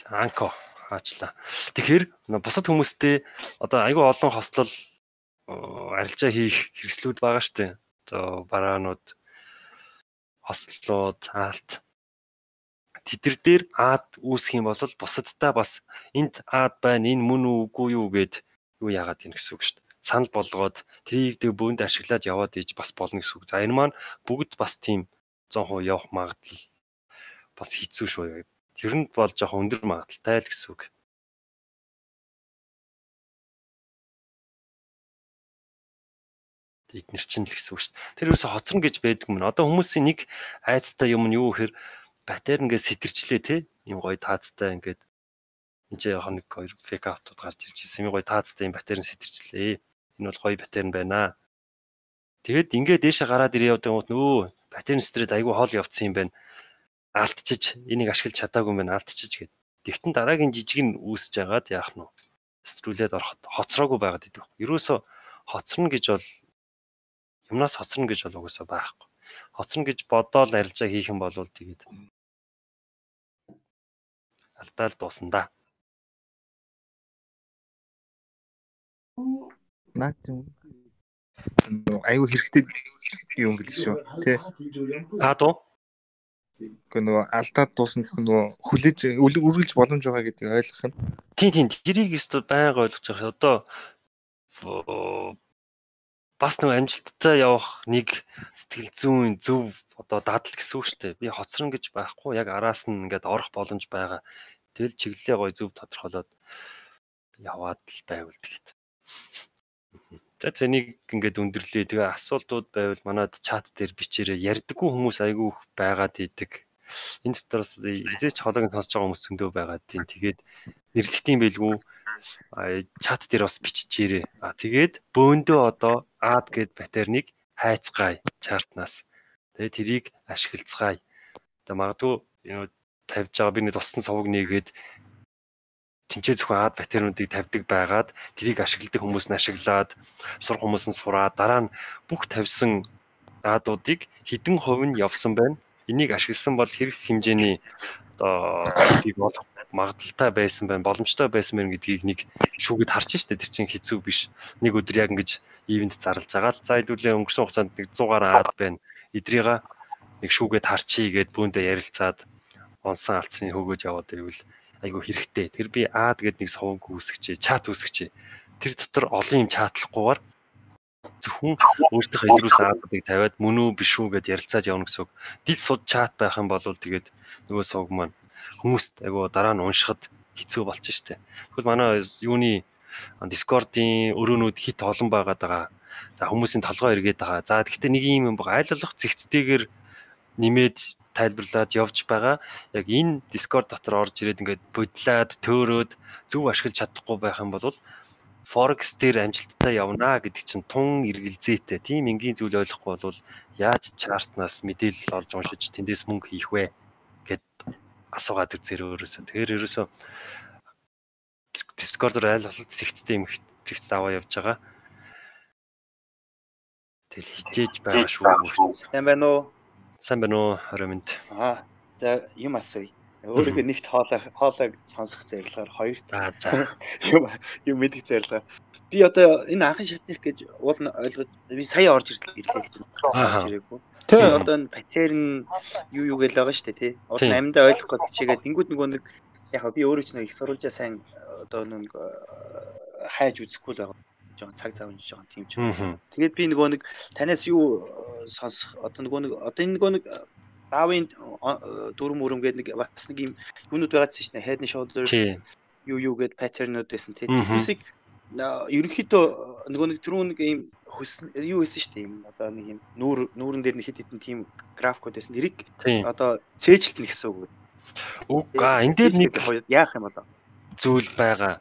Анко хаачлаа. Тэгэхээр бусад хүмүүстэй одоо айгүй олон хослол арилжаа хийх хэрэгслүүд байгаа штэ. За бараанууд, хослолууд, аалт. Тэдэр дээр аад үүсэх юм бол бусадтай бас энд аад байна, энэ мөн үгүй юу гэд юу яагаад юм гэсэн үг штэ. Санал болгоод тэрийг дэ бөөнд ашиглаад яваад иж бас болно гэсэн үг. За энэ маань бүгд бас тийм 100% явах магадлал бас хэцүү шүү. Тэр нь бол жоохон өндөр магадaltaй л гэсэн үг. Эднэр чинь л гэсэн үг шүү дээ. Тэр юусо хоцрон гэж байдаг юм. Одоо хүмүүсийн нэг айцтай юм нь юу гэхээр бактери ингээд сэтэрчлээ те. Ийм гоё таацтай ингээд энэ ч яг нэг хоёр фейк аутууд гарч ирж ирсэн. Ийм гоё таацтай юм бактерийн сэтэрчлээ. Энэ бол гоё бактери байна. Тэгэд ингээд дээшээ гараад ирээ явдаг юм нөө бактерийн сэтрэд айгүй хоол явцсан юм байна. Алдчиж энийг ашиглаж чадаагүй юм байна. Алдчиж гэд. Тэгтэн дараагийн жижиг нь үүсэж байгаад яах нь вэ? Стрүүлээд ороход хоцроогүй байгаад идэг. Ерөөсө хоцрно гэж бол юмнаас хоцрно гэж бол угаасаа байхгүй. Хоцрно гэж бодоол арилжаа хийх юм бол тэгээд алдаал дуусна да. Наад юм. Аюу хэрэгтэй юм гэлээ шүү. Тэ. Дуу. Гэхдээ нөгөө алдаад дуусна гэх нөгөө хүлээж үргэлж боломж байгаа гэдгийг ойлгох нь. Тийм тэрийг өстө байнга ойлгож байгаа. Одоо бас нөгөө амжилттай явах нэг сэтгэл зүйн зөв одоо дадал гэсэн үг шүү дээ. Би хоцрон гэж байхгүй яг араас нь ингээд орох боломж байгаа. Тэгэл чиглэлээ гоё зөв тодорхойлоод яваад л байвал тэгэд. За зэнийг ингээд өндөрлөө. Тэгээ асуултууд байвал манад чат дээр бичээрэй. Ярьдаггүй хүмүүс айгүй байгаад идэг. Энэ дотроос хизээч хоолойг сонсож байгаа хүмүүс зөндөө байгаад тийм. Тэгээд нэрлэхтийн байлгүй чат дээр бас биччихээрэй. Тэгээд бөөндөө одоо аад гэд бактерийг хайцгаая чартнаас. Тэгээд тэрийг ашиглацгаая. Тэгээ магадгүй тавьж байгаа би нэг туссан совог нээгээд тэнцээ зөвхөн аад бактериудыг тавьдаг байгаад тэрийг ашигладаг хүмүүс нь ашиглаад сур хүмүүс нь сураад дараа нь бүх тавьсан аадуудыг хэдэн хувь нь явсан байна. Энийг ашигласан бол хэрэг хэмжээний одоо магадaltaй байсан байна, боломжтой байсан байна гэдгийг нэг шүүгээд харж штэ. Тэр чинь хэцүү биш. Нэг өдөр яг ингэж ивент зарлж байгаа л за хэдүүлээ өнгөрсөн хугацаанд нэг 100 гаруй аад байна. Эдрийга нэг шүүгээд харчий гэд бүүндээ ярилцаад онсон алдсны хөгөөж яваад байвал айгу хэрэгтэй. Тэр би аад гэдэг нэг совонг үүсгэжээ, чат үүсгэжээ. Тэр дотор олон юм чатлахгүйгээр зөвхөн өөртөө илрүүлсэн аадыг тавиад мөн үү биш үү гэж ярилцаад явна гэсэн үг. Дил суд чат байх юм бол тэгээд нөгөө совог маань хүмүүст айгу дараа нь уншихад хэцүү болчих штэ. Тэгвэл манай юуны Discord-ийн өрөөнүүд хит олон байгаад байгаа. За хүмүүсийн толгой эргээд байгаа. За гэхдээ нэг юм байгаа. Айлуулах зэгцтэйгээр нэмээд тайлбарлаад явж байгаа. Яг энэ Discord дотор орж ирээд ингээд бодлоод төөрөөд зөв ашиглаж чадахгүй байх юм бол Forex дээр амжилттай явна гэдэг чинь тун эргэлзээтэй. Тийм энгийн зүйл ойлгохгүй бол яаж чартнаас мэдээлэл олж уншиж тэндээс мөнгө хийх вэ гэд асуугаад үзээр өөрөөсөө. Тэгэхээр ерөөсөө Discord-оор айл болол зэгцтэй юм зэгцтэй аваа явж байгаа. Тэгэл хичээж байгаа шүү. Сайн байна уу? Сайн байна уу? Хоромд. За юм асууя. Өөрийнхөө нэгт хоолойг сонсох зорилгоор хоёрт юм мэдих зорилгоор би одоо энэ анхын шатных гэж уул нь ойлгож би сая орж ирлээ ирээгүй. Тэгээ одоо энэ патер нь юу гэж байгаа шүү дээ тий. Уул нь амьдаа ойлгох гэж чигээд ингүүд нөгөө нэг яг би өөрөө ч нэг их сурвалжаа сайн одоо нэг хайж үзэхгүй л байгаа. Жон цаг зав унжиж байгаа тийм ч. Тэгээд би нөгөө нэг танаас юу сонсох одоо нөгөө нэг одоо энэ нөгөө нэг Давын дүрм мөрөм гэдэг нэг бас нэг юм юунууд байгаадсэн шнэ head and shoulders юу гэдэг паттернууд байсан тийм. Тэрсийг ерөнхийдөө нөгөө нэг түрүүн нэг юм юу хийсэн штэ юм одоо нэг юм нүүрэн дээр нэг хэд хэдэн тийм графикууд байсан. Тэрийг одоо цээжилтэн гэсэн үг. Үгүй энэ дээр нэг яах юм болоо зүйл байгаа.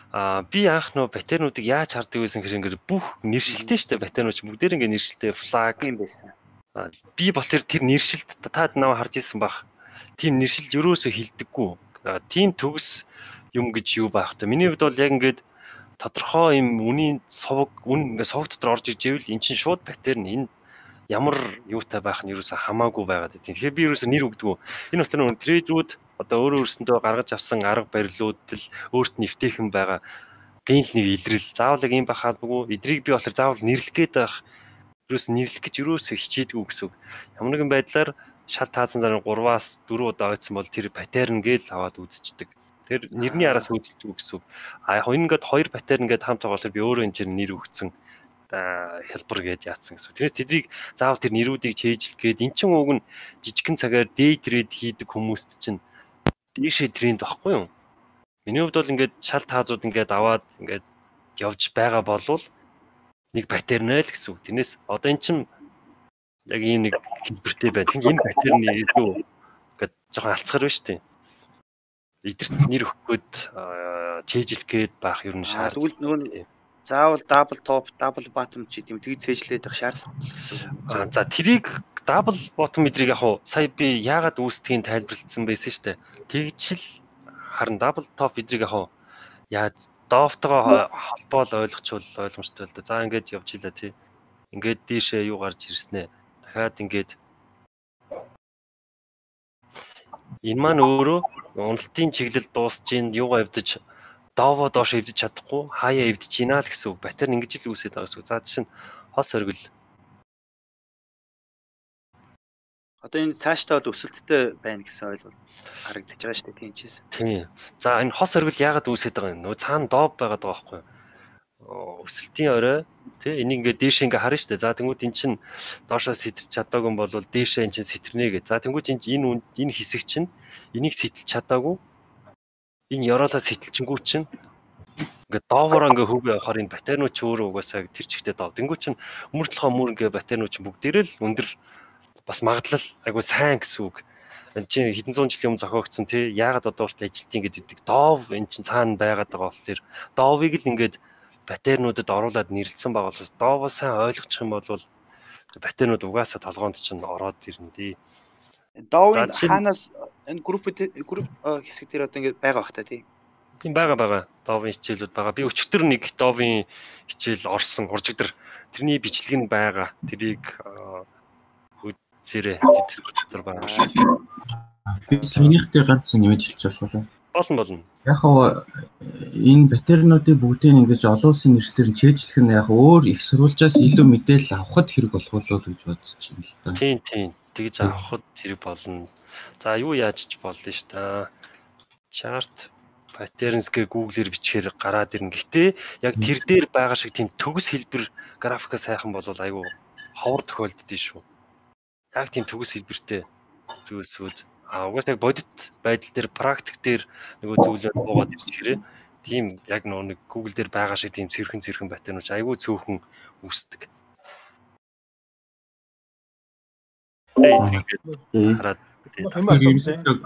Би анх нөө паттернуудыг яаж хардаг байсан гэхээр ингээд бүх нэршилтэй штэ паттернууд бүгдээр ингээд нэршилтэй flag юм байсан. Би болохоор тэр нэршилт таад наваа харж исэн баг. Тийм нэршилж өрөөсөө хилдэггүй. Тийм төгс юм гэж юу байх та. Миний хувьд бол яг ингээд тодорхой юм үнийн совг ингээд совг дотор орж иж ивэл эн чинь шууд паттерн энэ ямар юутай байх нь юусаа хамаагүй байгаад байна. Тэгэхээр би юусаа нэр өгдөг. Энэ болохоор нэг трейдүүд одоо өөрөө өөрсөндөө гаргаж авсан арга барилууд л өөрт нь эвтэйхэн байгаа. Гэнл нэг илрэл. Заавал яг юм бахаалгүй. Эдрийг би болохоор заавал нэрлэх гээд байх. Юус нэрлэх гэж юусаа хичээдгүй гэсэн үг. Ямар нэгэн байдлаар шал таазан дараа 3-аас 4 удаа ойцсон бол тэр паттерн гээл аваад үзчихдэг. Тэр нэрний араас үзэлдэг гэсэн үг. Яг ингээд 2 паттерн гээд хамт байгаа болохоор би өөрөө энэ чинь нэр өгсөн. Хэлбэр гээд яатсан гэсэн. Тэрээс тэдийг заавал тэр нэрүүдийг чэйжлэх гээд эн чинь уг нь жижигхэн цагаар day trade хийдэг хүмүүст чинь дээшээ тренд واخгүй юу? Миний хувьд бол ингээд шал таазууд ингээд аваад ингээд явж байгаа болвол нэг паттерн л гэсэн үг. Тэрнээс одоо эн чинь яг ийм нэг хэлбэртэй байна. Тэгэхээр энэ паттерны илүү ингээд жоохон алцгар байна шүү дээ. Эдгэрт нэр өгөх гээд чэйжлэх гээд байх юм шаардлагатай. Заавал double top, double bottom ч гэдэм тэгж цээжлээд байх шаардлагатай гэсэн. За тэрийг double bottom эдрийг яг хуу сая би яагаад үүсдгийг тайлбарлагдсан байсан шүү дээ. Тэгжл харин double top эдрийг яг хуу яаж дофтогоо холбоол ойлгочвол ойлгомжтой л да. За ингээд явж илаа тий. Ингээд дээшээ юу гарч ирснэ. Дахиад ингээд энэ маань өөрөө уналтын чиглэл дуусж ийн юугаа эвдэж доовоо доош эвдэж чадахгүй хаяа эвдэж гинаа л гэсэн үг. Паттерн ингэж л үүсээд байгаа гэсэн үг. За жишээ нь хос оргил. Одоо энэ цаашдаа бол өсөлттэй байна гэсэн ойлголт харагдаж байгаа шүү дээ тэнчээс. Тийм. За энэ хос оргил яагаад үүсээд байгаа юм? Нөө цаана дооb байгаад байгаа байхгүй юу? Өсөлтийн орой тий энийг ингээд дээш ингээ харна шүү дээ. За тэнгууд эн чинь доошоо сэтэрч чадаагүй бол дээшээ эн чинь сэтэрнэ гэж. За тэнгууд энэ хэсэг чинь энийг сэтэлж чадаагүй. Энэ ёроолоо сэтэлчингүү чинь ингээд доовороо ингээ хөвгөө явахаар энэ паттернууд ч өөрөө угаасаа тэр чигтээ доо. Тэнгууд чинь өмөртлөхөө мөр ингээ паттернууд чинь бүгдээрээ л өндөр бас магадлал айгу сайн гэсэн үг. Энд чинь хэдэн зуун жилийн өмнө зохиогдсон тий яагаад одоо хүртэл ажилтیں۔ Гэдэг доов эн чинь цаана байгаад байгаа болохоор доовыг л ингээд паттернуудад оруулаад нэрлэлсэн байгаа болохоос доовоо сайн ойлгочих юм бол паттернууд угаасаа толгоонд чинь ороод ирнэ тий. Доовын хаанаас энэ групп хэсэг дээр одоо ингээд байгаа бах та тий. Тийм байгаа. Доовын хичээлүүд байгаа. Би өчигдөр нэг доовын хичээл орсон уржигдэр тэрний бичлэг нь байгаа. Тэрийг үзээрэй гэдэг байгаа шүү. Би саяных дээр ганц нэмэж хэлж болох уу? Болно. Яг хоо энэ паттернуудыг бүгдийг ингэж олон улсын нэршлэр нь чэйжлэх нь яг өөр их сурвалжаас илүү мэдээлэл авахд хэрэг болох уу гэж бодож байна л да. Тийм. Тэгж авахд хэрэг болно. За юу яаж ч болно ш та. Chart patterns гэ Google-ээр бичгээр гараад ирнэ. Гэтэ яг тэр дээр байгаа шиг тийм төгс хэлбэр графикаа сайхан болвол айгүй ховор тохиолддөө шүү. Яг тийм төгс хэлбэртэй зүйлсүүд угаасаа яг бодит байдал дээр практик дээр нөгөө зүйлүүд буугаад ирчихэрээ тийм яг нэг Google дээр байгаа шиг тийм цэрхэн паттернууд айгүй цөөхөн үүсдэг.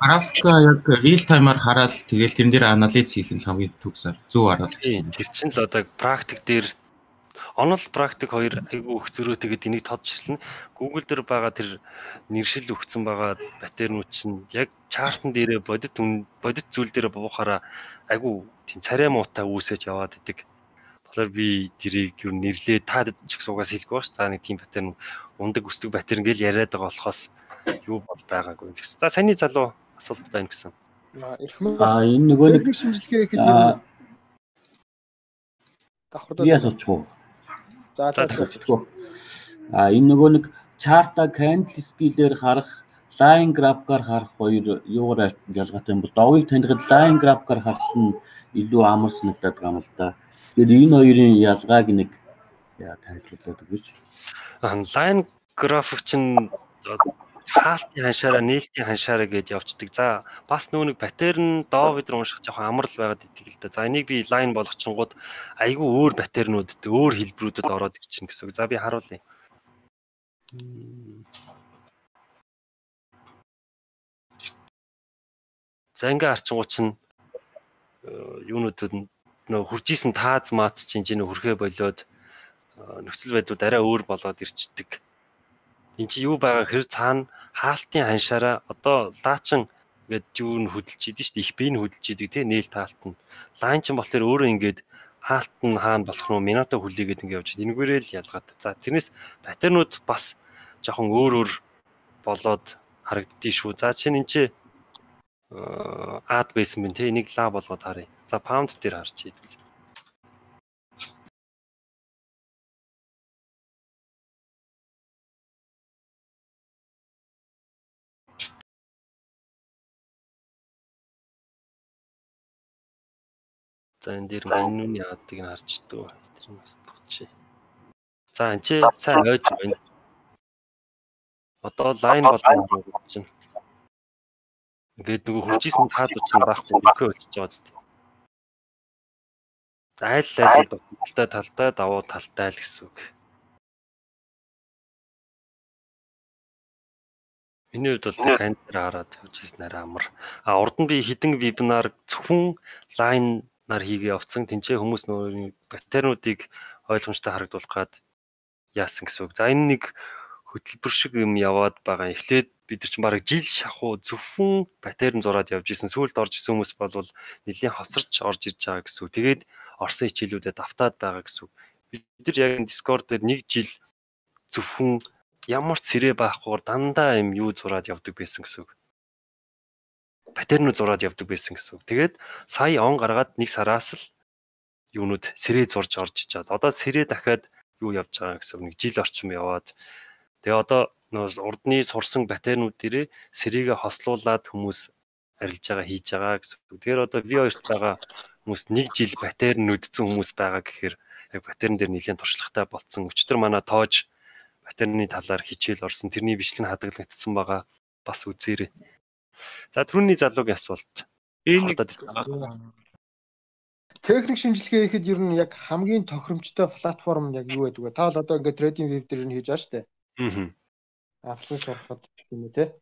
Графика яг real time-аар хараад тэгэл тэрэн дээр анализ хийх нь хамгийн төгсөөр зөв харуулж байна. Тэр чинь л одоо практик дээр онол практик хоёр айгүй их зөрөөтэйгээд энийг тодчилсан. Google дээр байгаа тэр нэршил өгсөн байгаа паттернууд чинь яг чартн дээрээ бодит зүйл дээр буухаараа айгүй тийм царай муутай үүсэж яваад идэг. Тэгэхээр би тэрийг юу нэрлээ таад ч гэсэн угаас хэлгүй бааш. За нэг тийм паттерн ундаг өсдөг паттерн гэж яриад байгаа болохоос юу бол байгаагүй гэсэн. За саний залуу асуулт байна гэсэн. Энэ нөгөө нэг шинжилгээ хийхэд юм. Давхар яа соцгоо. За энэ нөгөө нэг чарта candlestick-ээр харах, line graph-аар харах хоёр юугаар ялгаатай юм бол довыг танихад line graph-аар харах нь илүү амар санагдаад байгаа юм л да. Тэгэхээр энэ хоёрын ялгааг нэг тайлбарлаад өгөөч. Line graph чинь хаалтын ханшаараа нээлтийн ханшаараа гэж явцдаг. За бас нүүнэг паттерн доо бид нар унших жоохон амар л байгаад идэг л да. За энийг би лайн болгочингууд айгүй өөр паттернуудад өөр хэлбэрүүдэд ороод ирчихнэ гэсэн үг. За би харуулъя. За ингээ харчингууд чинь юунуудад нөө хуржижсэн тааз маац чинь энэ хүрхээ болоод нөхцөл байдлууд арай өөр болоод ирчдэг. Энд чи юу байгаа хэр цаана хаалтын ханшаараа одоо лаачин ингээд юу н хөдөлж идэв шүү дээ. Их бие нь хөдөлж идэг тий нээл таалт нь. Лайн ч болохоор өөрөө ингээд хаалт нь хаана болох нь минута хүлээгээд ингээд явж байгаа. Энэгээрээ л ялгаатай. За тэрнээс паттернууд бас жоохон өөр болоод харагддгийг шүү. За чинь энэ чи ад байсан байна тий. Энийг ла болгоод харъя. За pound дээр харж идвэл. За энэ дээр маньны яадыг нь харж дөө. Тэр нь бас тохчи. За энэ чи сайн ойж байна. Одоо лайн болон гэж чинь. Ингээд нөгөө хуржижсэн таалууд чинь байхгүй өгөө болчихж байгаа зү. Айл талтай давуу талтай л гэсэн үг. Миний хувьд бол кантер хараад хөвжсэн арай амар. Урд нь би хідэн вебинар зөвхөн лайн нар хийгээ явцсан. Тэнцээ хүмүүс нөгөө паттернуудыг ойлгомжтой харагдуулах гад яасан гэсэн үг. За энэ нэг хөтөлбөр шиг юм яваад байгаа. Эхлээд бид нар чинь бараг жил шахуу зөвхөн паттерн зураад явж исэн. Сүүлд орж исэн хүмүүс бол нэлийн хоцорч орж ирж байгаа гэсэн үг. Тэгээд орсон хичээлүүдэд автаад байгаа гэсэн үг. Бид нар яг Discord дээр нэг жил зөвхөн ямар ч сэрээ байхгүйгээр дандаа юм юу зураад явдаг байсан гэсэн үг. Паттернууд зураад явдаг байсан гэсэн үг. Тэгээд сая он гаргаад нэг сараас л юунууд сэрээ зурж орж ичаад. Одоо сэрээ дахиад юу явж байгаа гэсэн үг. Нэг жил орчим яваад. Тэгээ одоо нөө урдны сурсан паттернууд дээрээ сэрээгээ хослуулад хүмүүс арилж байгаа хийж байгаа гэсэн үг. Тэгэхээр одоо V2-т байгаа хүмүүс нэг жил паттерн үдцэн хүмүүс байгаа гэхээр яг паттерн дээр нэлээд туршлагатай болцсон. Өчтөр манай тоож паттерны талаар хичээл орсон. Тэрний бичлэг хадгалагдсан байгаа. Бас үзээрэй. За түрүүний залуугийн асуулт. Энэ техник шинжилгээ хийхэд ер нь яг хамгийн тохиромжтой платформ яг юу байдаг вэ? Та л одоо ингээд trading web дээр нь хийж байгаа шүү дээ. Авсан сурахад юм уу те?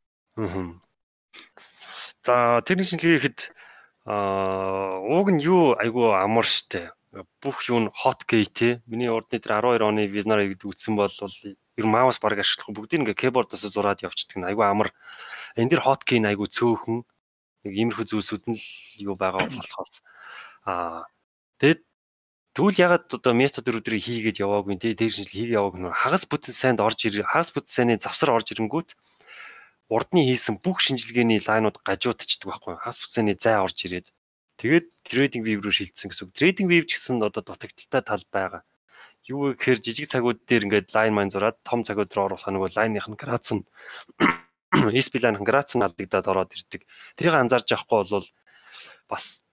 За техник шинжилгээ хийхэд ууг нь юу айгүй амар штэ. Бүх юу нь hotkey те. Миний урдны дээр 12 оны вебинарыг үзсэн бол ер нь маус баг ашиглахгүй бүгдийг ингээ keyboard-оос зураад явчихдаг. Айгүй амар. Энэ дэр hotkey нь айгүй цөөхөн. Нэг иймэрхүү зүйлсүүд нь л юу байгаа болохоос тэгээд тэгвэл ягаад одоо метод өдрийг хийгээд яваагүй тий дээр шинжил хийгээ яваагүй нөр хагас бүтэн сайнд орж ирээ хагас бүтэн сайны завсар орж ирэнгүүт урдны хийсэн бүх шинжилгээний лайнууд гажуудчихдаг байхгүй хагас бүтэн сайны зай орж ирээд тэгээд trading view руу шилжсэн гэсэн үг. Trading view ч гэсэн одоо дутагдaltaй тал байгаа. Юу гэхээр жижиг цагууд дээр ингээд лайн маань зураад том цагууд руу оруулах нөгөө лайных нь грац нь SP лайных грац нь алдагдаад ороод ирдэг. Тэрийг анзаарч явахгүй бол бас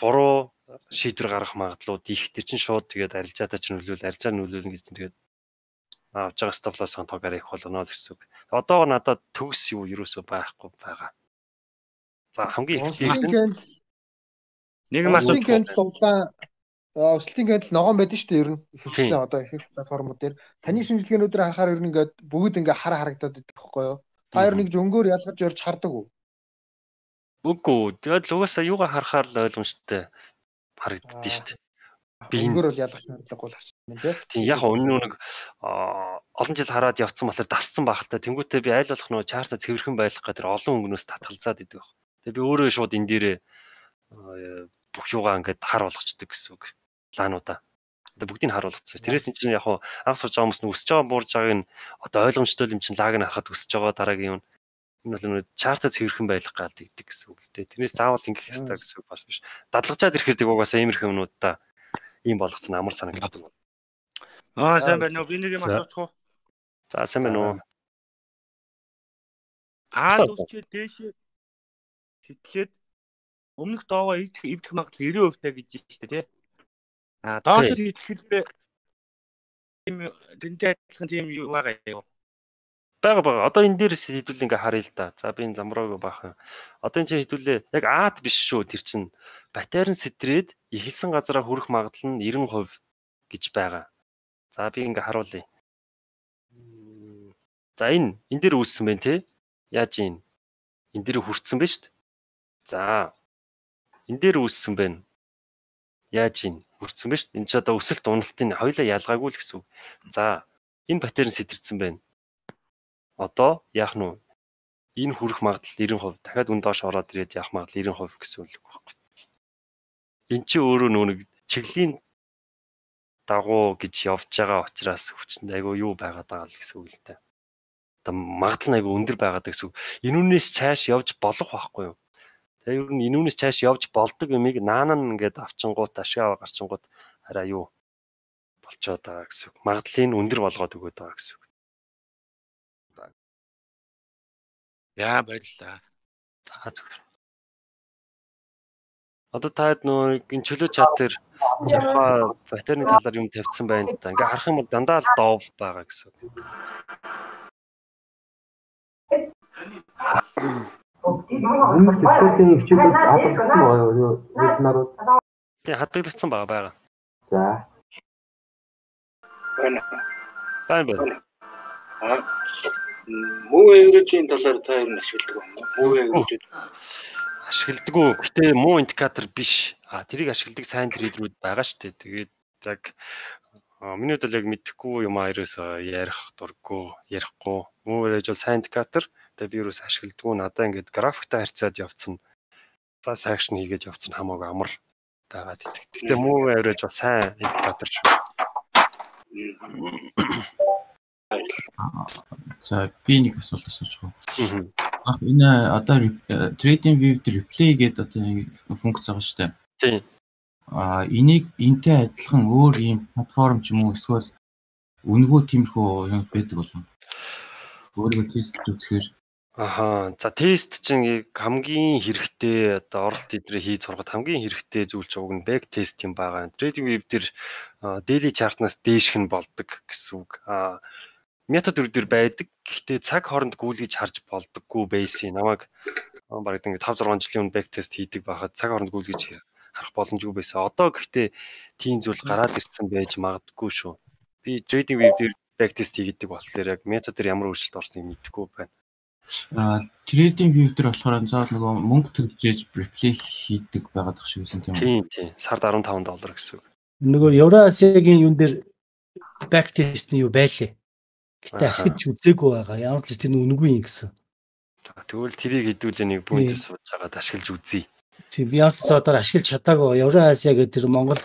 буруу шийдвэр гаргах магадлалууд их. Тэр чинь шууд тэгээд арилжаатай ч арилжаа нөлөөлнө гэж тэгээд авж байгаа stop loss-ын тоогоор их болно гэсэн үг. Одоо надад төгс юу ерөөсөө байхгүй байгаа. За хамгийн эхлээд нэг асуулт суглаа. Өсөлтийн кандидат ногоон байдаг шүү дээ ер нь. Ихвчлэн одоо их платформуд дээр таны шинжилгээнүүдээр харахаар ер нь ингээд бүгд ингээд харагдаад байдаг байхгүй юу? Та ер нь нэг зөнгөөр ялгаж өрж хардаг уу? Үгүй. Тэгээд л угаасаа юугаа харахаар л ойлгомжтой харагддээ шүү дээ. Би зөнгөөр бол ялгах шаардлагагүй л харчихсан тийм. Тийм яг өнөө нэг олон жил хараад явцсан болохоор дасцсан багтаа. Тэнгүүтээ би аль болох нөгөө чарта цэвэрхэн байх гэдэг олон өнгнөөс татгалзаад идэг баг. Тэгээ би өөрөө шууд энэ дээрээ бүх юугаа ингээд хар болгочдөг гэсэн үг. Лаануудаа. Одоо бүгдийг хар болгоцсон. Тэрээс энэ чинь яг анх сурж байгаа хүмүүс нь өсөж байгаа буурж байгааг нь одоо ойлгомжтой юм чинь лаг нь харахад өсөж байгаа дараагийн юм. Энэ бол нэг чарта цэвэрхэн байх гал гэдэг гэсэн үг л дээ. Тэрнээс заавал ингэх ёстой гэсэн үг бас биш. Дадлагжаад ирэхэд угаасаа иймэрхүү юмнуудаа ийм болгоцсон амар санагддаг. Сайн байна уу? Би нэг юм асуучих уу? За сайн байна уу? Дүүсчээ дээшээ сэтгэлээд өмнөх доогоо эвдэх магадлал 90% гэж байна шүү дээ, тий. Доош сэтгэлээ тийм тэнтэй адилхан тийм юу байгаа юу? Бага. Одоо энэ дээрээс хэдүүл ингээ харъя л да. За би энэ замраагүй баахан. Одоо энэ чинь хэдүүлээ яг аад биш шүү. Тэр чинь паттерн сэтрээд эхэлсэн газараа хүрэх магадлал нь 90% гэж байгаа. За би ингээ харуулъя. За энэ дээр үүссэн байна те. Яаж энэ дээр хүрсэн байна шүү дээ. За энэ дээр үүссэн байна. яаж ийн хүрсэн бэ шүү дээ. Энд ч одоо өсөлт уналтын хоёулаа ялгаагүй л гэсэн үг. За энэ паттерн сэтэрсэн байна. Одоо яах нь вэ? Энэ хүрэх магадлал 90%, дахиад үн доош ороод ирээд явах магадлал 90% гэсэн үг байхгүй. Энд чи өөрөө нэг чиглэлийн дагуу гэж явж байгаа учраас хүчтэй айгүй юу байгаад байгаа л гэсэн үг л дээ. Одоо магадлал нь айгүй өндөр байгаад гэсэн үг. Энүүнээс цааш явж болох байхгүй юу? Тэгээ ер нь энүүнээс цааш явж болдог юмыг наана нь ингээд авчингууд ашиг гарчингууд арай юу болцоод байгаа гэсэн үг. Магадлалыг өндөр болгоод өгöd байгаа гэсэн үг. Яа баярлаа. За зөв. Одоо таад нөө энэ чөлөө чат дээр жахаа паттерны талаар юм тавьсан байна л да. Ингээ харах юм бол дандаа л доов байгаа гэсэн үг. Өмнөх дискордын хичээлүүд хадгалагдсан байгаа юу? Вебинарууд. Тий, хадгалагдсан байгаа. За. Байна. Муу эврежийн талаар та юу ашигладаг юм бэ? Муу эврежүүд ашигладаггүй. Гэтэ муу индикатор биш. Тэрийг ашигладаг сайн трейдерүүд байгаа шүү дээ. Тэгээд яг миний хувьд л яг мэдэхгүй юм аерээс ярих дурггүй, ярихгүй. Муу эвреж бол сайн индикатор. Тэгээд би юус ашигладаггүй. Надаа ингээд графиктай харьцаад явцсан. Бас акшн хийгээд явцсан хамаагүй амар дагаад идэг. Гэтэ муу эвреж бол сайн индикатор шүү. За би нэг асуулт асууж байгаа. Энэ одоо Trading View дээр replay гэдэг одоо нэг функц байгаа шүү дээ. Тийм. Энийг энтэй адилхан өөр юм платформ ч юм уу эсвэл үнгүү тиймэрхүү юм байдаг болов. Өөрийгөө тестлж үзэхээр. За тест чинь хамгийн хэрэгтэй одоо оролт эдрээ хийж сурахад хамгийн хэрэгтэй зүйл ч уг нь back test юм байгаа. Trading View дээр daily chart-наас дээшх нь болдог гэсэн үг. Метод төрөөр байдаг. Гэхдээ цаг хооронд гүйлгэж харж болдоггүй байсан. Намайг бараг ингээд 5-6 жилийн өмнө back test хийдэг байхад цаг хооронд гүйлгэж харах боломжгүй байсан. Одоо гэхдээ тийм зүйл гараад ирсэн байж магадгүй шүү. Би Trading View дээр back test хийдэг болохоор яг методээр ямар өөрчлөлт орсныг мэдэхгүй байна. Trading View дээр болохоор заавал нөгөө мөнгө төлж replay хийдэг байгаад тах шиг байсан тийм үү? Тийм. Сард $15 гэсэн үг. Нөгөө Евразиагийн юун дээр back test нь юу байлээ? Гэтэ ашиглаж үзээгүй байгаа. Ямар ч тэр үнэгүй юм гэсэн. Тэгвэл тэрийг хэдүүлээ нэг бүнд сууж байгаад ашиглаж үзье. Тийм би ямар ч содоор ашиглаж чадаагүй. Евразиа гэдэг тэр Монгол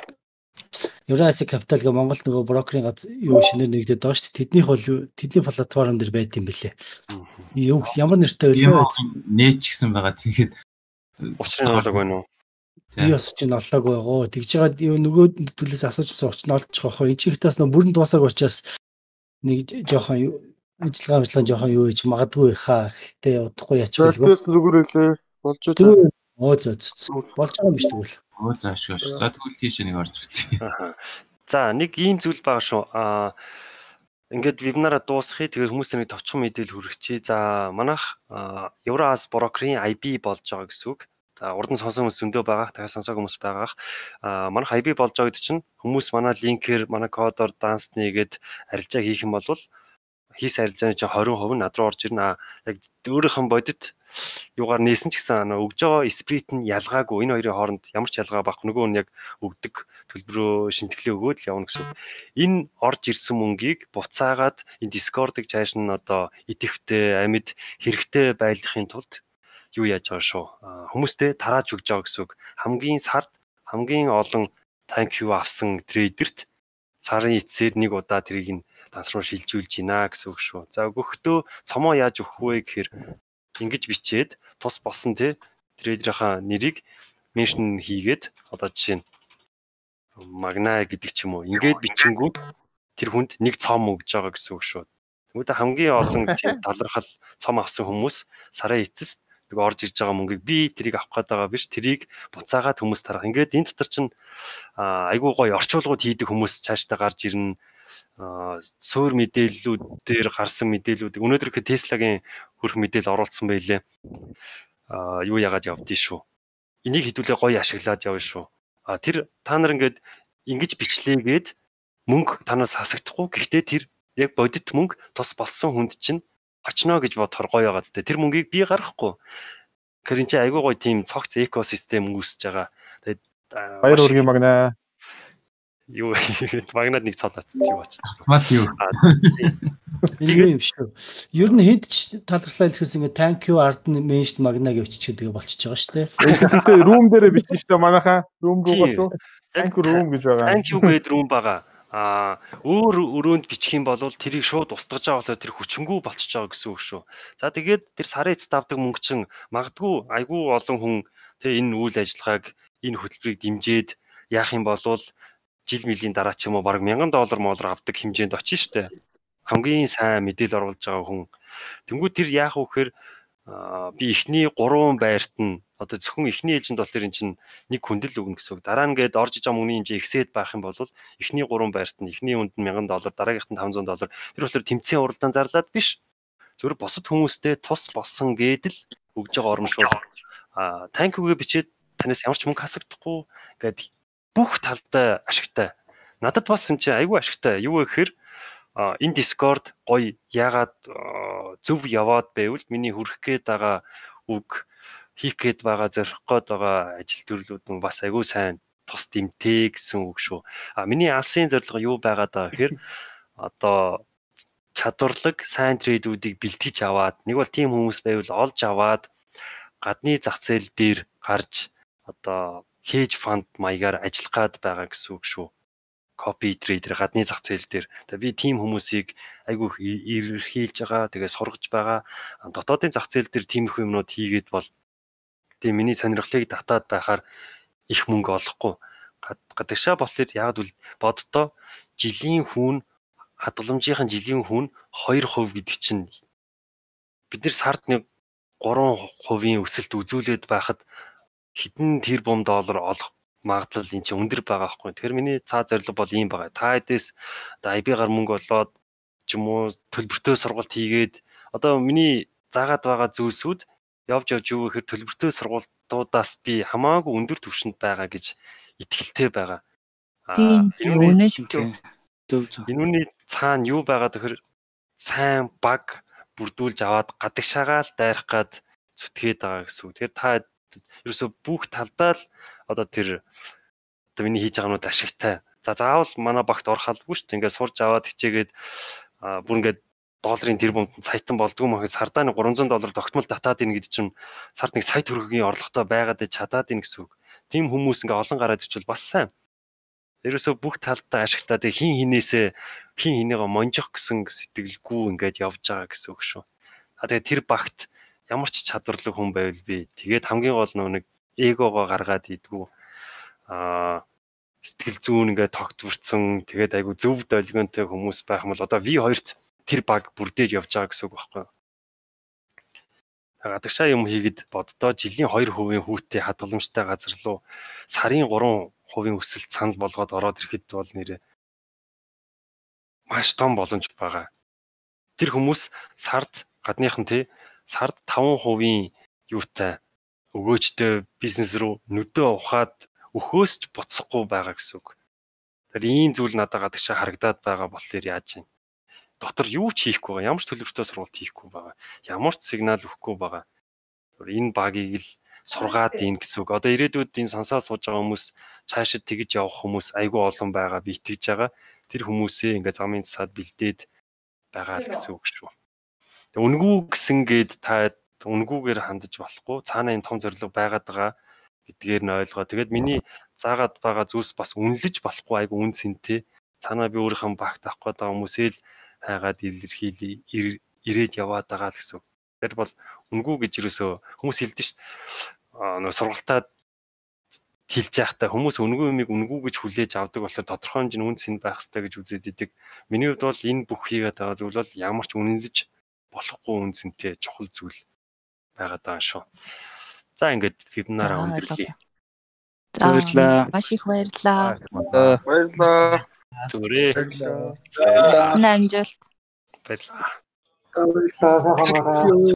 Евразиа Capital гэх Монгол нөгөө брокерийн юу шинээр нэгдээд байгаа шүү дээ. Тэдний платформ дээр байт юм бэлээ. Юу ямар нэртэй байлаа? Нээч гэсэн байгаа. Тэгээд учрын олог байна уу? Би бас чинь олоогүй байгаа. Тэгж байгаа нөгөө төлөөс асуужсан учрын олж байгаа. Энэ чихтээс нөгөө бүрэн дуусаагүй учраас нэг жоохон ажиллагаа жоохон юу гэж магадгүй хаа. Гэтэ удахгүй ячгүй. Зөлтөөс зүгээр хэлээ. Болж байгаа. Болж байгаа юм биш тэгвэл. Заашгүй. За тэгвэл тийш нэг орж үзье. За нэг ийм зүйл байгаа шүү. Ингээд вебинараа дуусгая. Тэгээд хүмүүст нэг товчхон мэдээлэл хүргэчихье. За манайх Евроаз брокерийн IB болж байгаа гэсэн үг. За урд нь сонсон хүмүүс зөндөө байгаа. Дахиад сонсоогүй хүмүүс байгаа. Манайх IB болж байгаа гэдэг чинь хүмүүс манай линкээр, манай кодоор данс нэгээд арилжаа хийх юм бол хийс арилжааны чинь 20% над руу орж ирнэ. Яг өөрийнх нь бодит юугаар нээсэн ч гэсэн өгж байгаа сприт нь ялгаагүй. Энэ хоёрын хооронд ямар ч ялгаа байхгүй. Нөгөө нь яг өгдөг төлбөрөө шинтгэлээ өгөөд л явна гэсэн. Энэ орж ирсэн мөнгийг буцаагаад энэ Discord-ыг цааш нь одоо идэвхтэй, амьд хэрэгтэй байлгахын тулд юу яаж байгаа шүү. Хүмүүстэй тарааж өгж байгаа гэсэн үг. Хамгийн сард хамгийн олон thank you авсан трейдерт сарын эцсээр нэг удаа тэрийг нь данс руу шилжүүлж гинэ гэсэн үг шүү. За өгөхдөө цомоо яаж өгөх вэ гэхээр ингэж бичээд тус босон трейдерийнхаа нэрийг меншн хийгээд одоо жишээ нь магна гэдэг ч юм уу ингээд бичингүү тэр хүнд нэг цом өгж байгаа гэсэн үг шүү. Тэгвэл хамгийн олон тийм талархал цом авсан хүмүүс сарын эцэст нэг орж ирж байгаа мөнгийг би тэрийг авах гээд байгаа биш, тэрийг буцаагаад хүмүүс тарах. Ингээд энэ дотор чинь айгүй гоё орчуулгууд хийдэг хүмүүс цаашдаа гарч ирнэ. Суур мэдээллүүд дээр гарсан мэдээллүүд өнөөдөр их Tesla-гийн хөрх мэдээлэл оруулсан байлээ. Юу яагаад явдгийг шүү. Энийг хэдүүлээ гоё ашиглаад явна шүү. Тэр та нар ингээд ингэж бичлээгээд мөнгө танаас хасагдахгүй. Гэхдээ тэр яг бодит мөнгө тус болсон хүнд чинь очно гэж бодохоор гоё байгаа зү. Тэр мөнгийг би гаргахгүй. Тэгэхээр энэ чинь айгүй гоё тийм цогц экосистем үүсэж байгаа. Тэгээд Баяр үргийн магнаа. Юу магнад нэг цол очиж юу бач. Мат юу. Энэ юм шүү. Ер нь хэд ч талархлаа хэлэхээс ингээ thank you art mention магнаа гэвч тэгээ болчихж байгаа шүү дээ. Гэхдээ room дээрээ бичсэн шүү дээ манайхаа. Room руу гасуу. Thank you room гэж байгаа. Thank you гэдэг room байгаа. Өөр өрөөнд бичих юм бол тэрийг шууд устгаж байгаа болохоор тэр хүчингү болчихж байгаа гэсэн үг шүү. За тэгээд тэр сарын эцэст авдаг мөнгө чин магадгүй айгүй олон хүн тэг энэ үйл ажиллагааг энэ хөтөлбөрийг дэмжиж яах юм бол жил мөлийн дараа ч юм уу бараг $1000 авдаг хэмжээнд очиж штэ. Хамгийн сайн мэдээлэл оруулж байгаа хүн. Тэнгүү тэр яах вэ гэхээр би эхний 3 байрт нь одоо зөвхөн эхний ээлжинд болохоор эн чинь нэг хүндэл өгнө гэсэн үг. Дараа нь гээд орж иж байгаа мөнгөний хэмжээ ихсээд байх юм бол эхний 3 байрт нь эхний үнд нь $1000, дараагийнх нь $500. Тэр болохоор тэмцээн уралдаан зарлаад биш. Зөвхөн босод хүмүүстэй тус болсон гээд л өгж байгаа оромшуул. Thank you-гээ бичээд танаас ямар ч мөнгө хасагдахгүй гээд бүх талдаа ашигтай. Надад бас энэ чинь айгүй ашигтай. Юу вэ гэхээр энэ Discord гоё яагаад зөв яваад байвал миний хүрэх гээд байгаа үг хийх гээд байгаа зорих гээд байгаа ажил төрлүүд нь бас айгүй сайн тус дэмтэй гэсэн үг шүү. Миний алсын зорилго юу байгаад байгаа гэхээр одоо чадварлаг сайн трейдүүдийг бэлтгэж аваад нэг бол тийм хүмүүс байвал олж аваад гадны зах зээл дээр гарч одоо hedge fund маягаар ажиллах гад байгаа гэсэн үг шүү. Copy trader гадны зах зээл дээр. Тэгээ би тийм хүмүүсийг айгүй ирэрхийлж байгаа, тэгээ сургаж байгаа. Дотоодын зах зээл дээр тиймэрхүү юмнууд хийгээд бол тийм миний сонирхлыг татаад байхаар их мөнгө олохгүй. Гадагшаа болохоор яг л боддоо жилийн хүүн хадгаламжийн жилийн хүүн 2% гэдэг чинь бид нэр сард нэг 3% өсөлт үзүүлээд байхад хэдэн тэрбум доллар олох магадлал энэ чинь өндөр байгаа байхгүй. Тэгэхээр миний цаа зорилго бол ийм байгаа. Та хэдээс одоо IB-гаар мөнгө олоод ч юм уу төлбөртөө сургалт хийгээд одоо миний заагаад байгаа зүйлсүүд явж юу гэхээр төлбөртөө сургалтуудаас би хамаагүй өндөр түвшинд байгаа гэж итгэлтэй байгаа. Тийм үнэн шүү. Энүүний цаана юу байгаа гэхээр сайн баг бүрдүүлж аваад гадагшаагаа л дайрах гад зүтгээд байгаа гэсэн үг. Тэгэхээр та ерөөсө бүх талдаа л одоо тэр одоо миний хийж байгаа юмуд ашигтай. За заавал манай багт орох албагүй шүү дээ. Ингээд сурж аваад хичээгээд бүр ингээд долларын тэрбумд саятан болдгоо махад сардаа нэг $300 тогтмол татаад ийн гэдэг чинь сард нэг сая төгрөгийн орлоготой байгаад чадаад ийн гэсэн үг. Тийм хүмүүс ингээд олон гараад ирчвэл бас сайн. Ерөөсө бүх талдаа ашигтай. Тэг хин хинээсээ хин хинээгээ монжих гэсэн сэтгэлгүй ингээд явж байгаа гэсэн үг шүү. Тэгээ тэр багт ямар ч чадварлаг хүн байвал би тэгээд хамгийн гол нэг эгогоо гаргаад идэггүй сэтгэл зүүн ингээд тогтворцсон тэгээд айгу зөв долгионтой хүмүүс байх юм бол одоо V2-т тэр баг бүрдээж явж байгаа гэсэн үг байхгүй. Гадагшаа юм хийгээд боддоо жилийн 2% хүүтэй хадгаламжтай газар руу сарын 3% өсөлт санал болгоод ороод ирэхэд бол нэрээ маш том боломж байгаа. Тэр хүмүүс сард гадныхан тий сард 5% юутай өгөөжтэй бизнес рүү нүдөө ухаад өхөөс ч буцахгүй байгаа гэсэн үг. Тэр ийм зүйл надад гадагшаа харагдаад байгаа болохоор яаж юм. Дотор юу ч хийхгүй байгаа. Ямар ч төлөвлөлтөө сургалт хийхгүй байгаа. Ямар ч сигнал өгөхгүй байгаа. Энэ багийг л сургаад ийн гэсэн үг. Одоо ирээдүйд энэ сансаа сууж байгаа хүмүүс цаашид тэгж явах хүмүүс айгүй олон байгаа би итгэж байгаа. Тэр хүмүүсээ ингээд замын засаад бэлдээд байгаа л гэсэн үг шүү. Үнгүү гэсэнгээд та үнгүүгээр хандаж болохгүй. Цаана энэ том зорилго байгаад байгаа гэдгээр нь ойлгоо. Тэгээд миний заагаад байгаа зүйлс бас үнэлж болохгүй айгу үн цэнтэй. Цаана би өөрийнхөө багт авах гээд байгаа хүмүүсээ л хайгаад илэрхийлээ ирээд яваад байгаа л гэсэн. Тэр бол үнгүү гэж юусоо хүмүүс хэлдэг шүү дээ. Нөгөө сургалтад хэлж байхдаа хүмүүс үнгүү юмыг үнгүү гэж хүлээж авдаг болохоор тодорхой хэмжээний үн цэн байх хэрэгтэй гэж үзээд идэг. Миний хувьд бол энэ бүх хийгээд байгаа зүйл бол ямар ч үнэлж болохгүй үн цэнтэй чухал зүйл байгаад байгаа шүү. За ингээд вебинараа өндөрлөе. Баярлалаа. Маш их баярлалаа. Баярлалаа. Зүрээ. Баярлалаа. Баярлалаа. Баярлалаа.